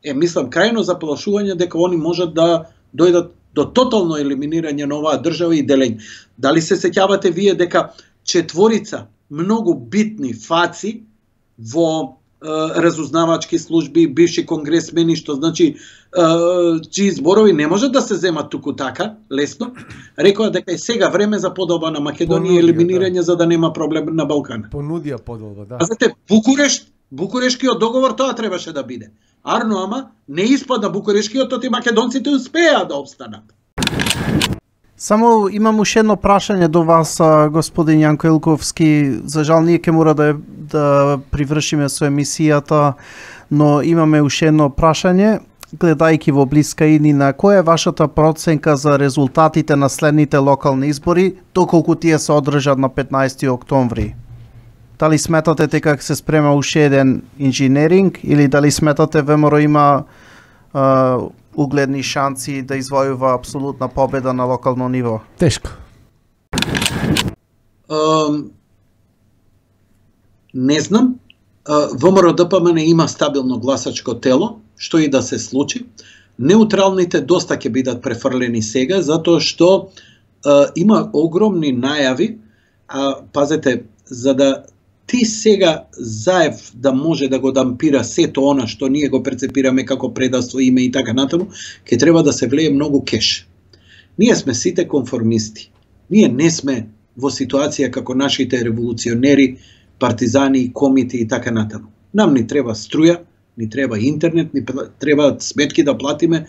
е, мислам, крајно заплашување дека они можат да дојдат до тотално елиминирање на оваа држава и делење. Дали се сеќавате вие дека четворица многу битни фаци во разузнавачки служби, бивши конгресмени, што значи чии зборови не можат да се земат туку така, лесно, рекоа дека е сега време за подолба на Македонија и елиминирање, за да нема проблем на Балкана. Понудија подолба, да. А знаете, Букурешт Букурешкиот договор тоа требаше да биде. Арно, ама не испадна Букурешкиот, и македонците успеа да обстанат. Само имам уште едно прашање до вас, господин Јанко Илковски. За жал ние ќе мора да привршиме со емисијата, но имаме уште едно прашање. Гледајќи во блиска иднина, која е вашата проценка за резултатите на следните локални избори, доколку тие се одржат на 15 октомври? Дали сметате дека се спрема уште еден инженеринг или дали сметате ВМРО има угледни шанси да извојува апсолутна победа на локално ниво? Тешко. Не знам. ВМРО ДПМН има стабилно гласачко тело, што и да се случи. Неутралните доста ќе бидат префрлени сега, затоа што има огромни најави. Пазете, за да ти сега Заев да може да го дампира сето она што ние го прецепираме како предавство, име и така натаму, ќе треба да се влее многу кеш. Ние сме сите конформисти. Ние не сме во ситуација како нашите револуционери, партизани, комити и така натаму. Нам ни треба струја, ни треба интернет, ни треба сметки да платиме,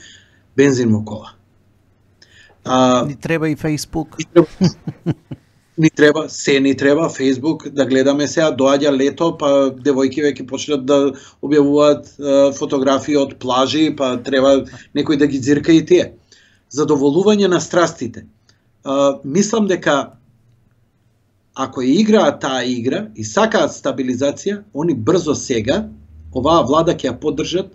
бензин во кола. Ни треба и Facebook. Ни треба Facebook, да гледаме сега, доаѓа лето, па девојки веќе почнат да објавуваат фотографии од плажи, па треба некој да ги ѕирка и тие. Задоволување на страстите. Мислам дека ако играат таа игра и сакаат стабилизација, они брзо сега оваа влада ќе ја поддржат,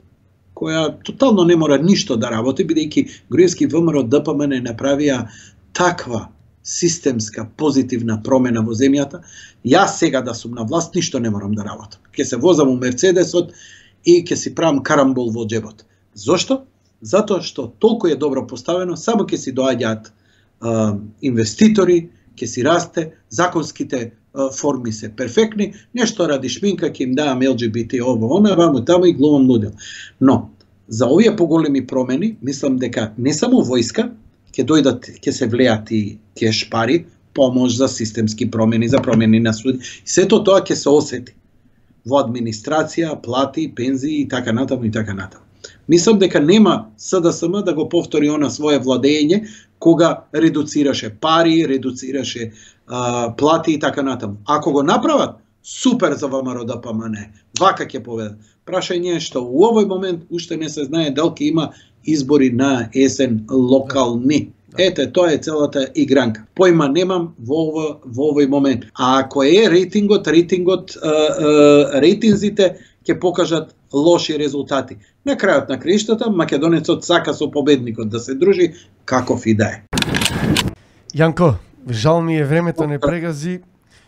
која тотално не мора ништо да работи, бидејќи Груевски, ВМРО, ДПМН направија таква системска, позитивна промена во земјата. Јас сега да сум на власт, ништо не морам да работам. Ќе се возам у Мерцедесот и ќе си правам карамбол во џебот. Зошто? Затоа што толку е добро поставено, само ќе си доаѓаат инвеститори, ќе си расте, законските форми се перфектни, нешто ради шминка ќе им давам LGBT ово, она, ваму, таму и глумам лудил. Но, за овие поголеми промени, мислам дека не само војска, ќе дојдат, ќе се влеат и кеш пари, помош за системски промени, за промени на суди. И сето тоа ќе се осети во администрација, плати, пензии и така натаму и така натаму. Мислам дека нема СДСМ да го повтори она свое владење кога редуцираше пари, редуцираше плати и така натаму. Ако го направат, супер за ВМРО ДПМН. Вака ќе поведат. Прашање е што у овој момент уште не се знае дали ќе има избори на есен локални. Ете, тоа е целата игранка. Појма немам во овој момент. А ако е рейтинзите ќе покажат лоши резултати. На крајот на краиштата, македонецот сака со победникот да се дружи, каков и да е. Јанко, жал ми е времето не прегази.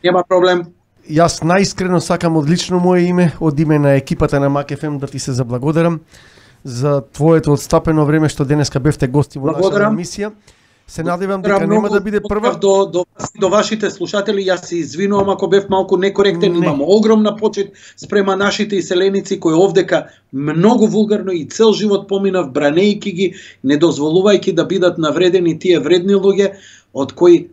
Нема проблем. Јас најискрено сакам од лично мое име, од име на екипата на МакФМ да ти се заблагодарам за твоето отстапено време што денеска бевте гости во нашата емисија. Се надевам дека нема да биде прва. До вашите слушатели, јас се извинувам ако бев малку некоректен, имам огромна почит спрема нашите иселеници кои овдека многу вулгарно и цел живот поминав бранејки ги, не дозволувајќи да бидат навредени тие вредни луѓе од кои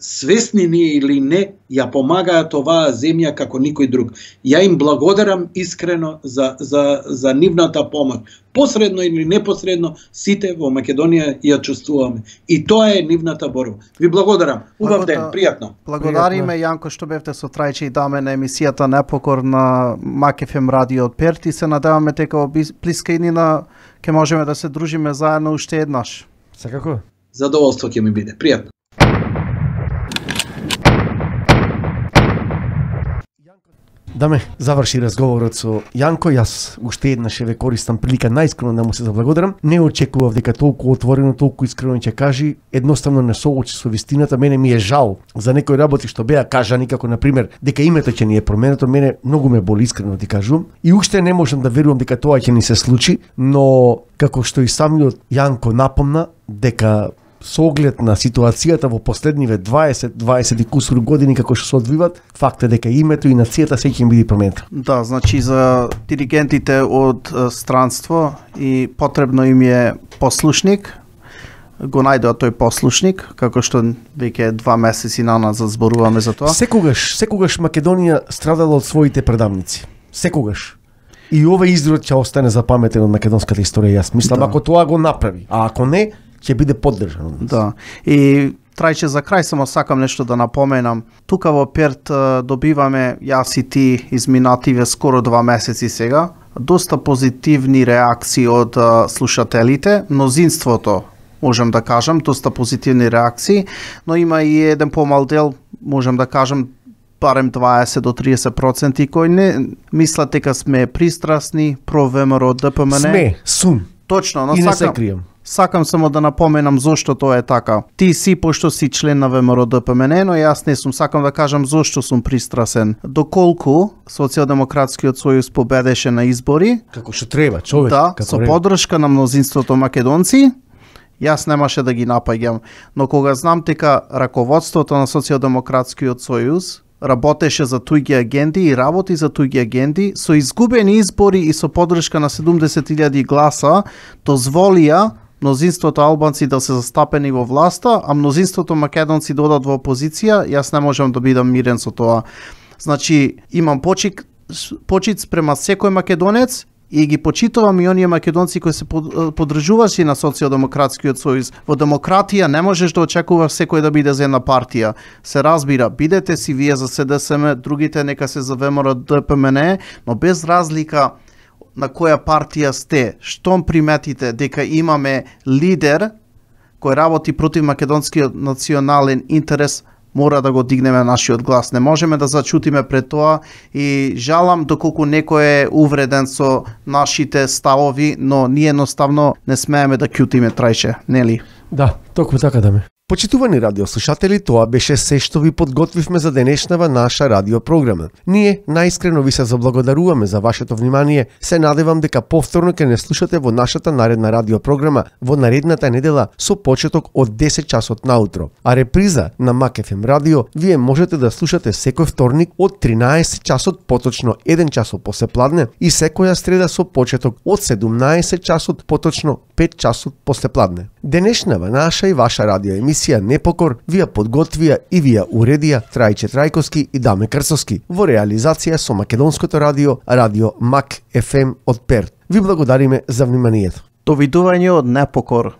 свесни ние или не, ја помагаат оваа земја како никој друг. Ја им благодарам искрено за нивната помош. Посредно или непосредно, сите во Македонија ја чувствуваме. И тоа е нивната борба. Ви благодарам. Убав ден, пријатно. Благодариме, Јанко, што бевте со Трајче и Даме на емисијата Непокор на МакФМ радио од Перт и се надеваме дека во блиска иднина ќе можеме да се дружиме заедно уште еднаш. Секако? Задоволство ќе ми биде. Пријатно. Даме, заврши разговорот со Јанко, јас уште еднаш ве користам прилика најискрено да му се заблагодарам. Не очекував дека толку отворено, толку искрено ќе кажи, едноставно не соочи со вистината. Мене ми е жал за некои работи што беа кажани, како на пример дека името ќе ни е променето, мене многу ме боли, искрено ти кажувам. И уште не можам да верувам дека тоа ќе ни се случи, но како што и самиот Јанко напомна дека со оглед на ситуацијата во последниве 20 и кусур години како што се одвиват, факт е дека името и нацијата се ќе биде променето. Да, значи за диригентите од странство и потребно им е послушник. го најдоа тој послушник, како што веќе 2 месеци назад зборуваме за тоа. Секогаш Македонија страдала од своите предавници. Секогаш. И овој изрод ќе остане запаметен од македонската историја, јас мислам, ако тоа го направи, а ако не, ќе биде поддржан. Да. И Трајче, за крај само сакам нешто да напоменам. Тука во Перт добиваме, јас и ти, изминативе скоро 2 месеци сега, доста позитивни реакции од слушателите, мнозинството, можам да кажам, доста позитивни реакции, но има и еден помал дел, можам да кажам, барем 20 до 30% кои не мислат дека сме пристрасни про ВМРО ДПМН. Сум. Точно, но и не се крием. Сакам само да напоменам зошто тоа е така. Ти си, пошто си член на ВМРО ДПМН, но јас не сум. Сакам да кажам зошто сум пристрасен. Доколку Социјалдемократскиот сојуз победеше на избори, како што треба, човек. Да, со поддршка на мнозинството македонци, јас немаше да ги напаѓам. Но кога знам дека раководството на Социјалдемократскиот сојуз работеше за туѓи агенди и работи за туѓи агенди, со изгубени избори и со поддршка на 70.000 гласа, дозволија мнозинството албанци да се застапени во власта, а мнозинството македонци да одат во опозиција, јас не можам да бидам мирен со тоа. Значи, имам почит спрема секој македонец и ги почитувам и оние македонци кои се поддржувачи на Социјалдемократскиот сојуз. Во демократија не можеш да очекуваш секој да биде за една партија. Се разбира, бидете си вие за СДСМ, другите нека се за ВМРО ДПМН, но без разлика на која партија сте, штом приметите дека имаме лидер кој работи против македонскиот национален интерес, мора да го дигнеме нашиот глас. Не можеме да зачутиме пред тоа и жалам доколку некој е увреден со нашите ставови, но ние едноставно не смееме да ќутиме, Трајче, нели? Да, токму така да ме. Почитувани радиослушатели, тоа беше се што ви подготвивме за денешнава наша радиопрограма. Ние најискрено ви се заблагодаруваме за вашето внимание. Се надевам дека повторно ќе не слушате во нашата наредна радиопрограма во наредната недела со почеток од 10 часот наутро. А реприза на Мак ФМ радио вие можете да слушате секој вторник од 13 часот поточно 1 часот посепладне и секоја среда со почеток од 17 часот поточно 5 часот посепладне. Денешнава наша и ваша радио емисија Непокор ви ја подготвија и ви ја уредија Трајче Трајковски и Даме Крсовски во реализација со македонското радио, радио Мак ФМ од Перт. Ви благодариме за вниманието. Довидување од Непокор.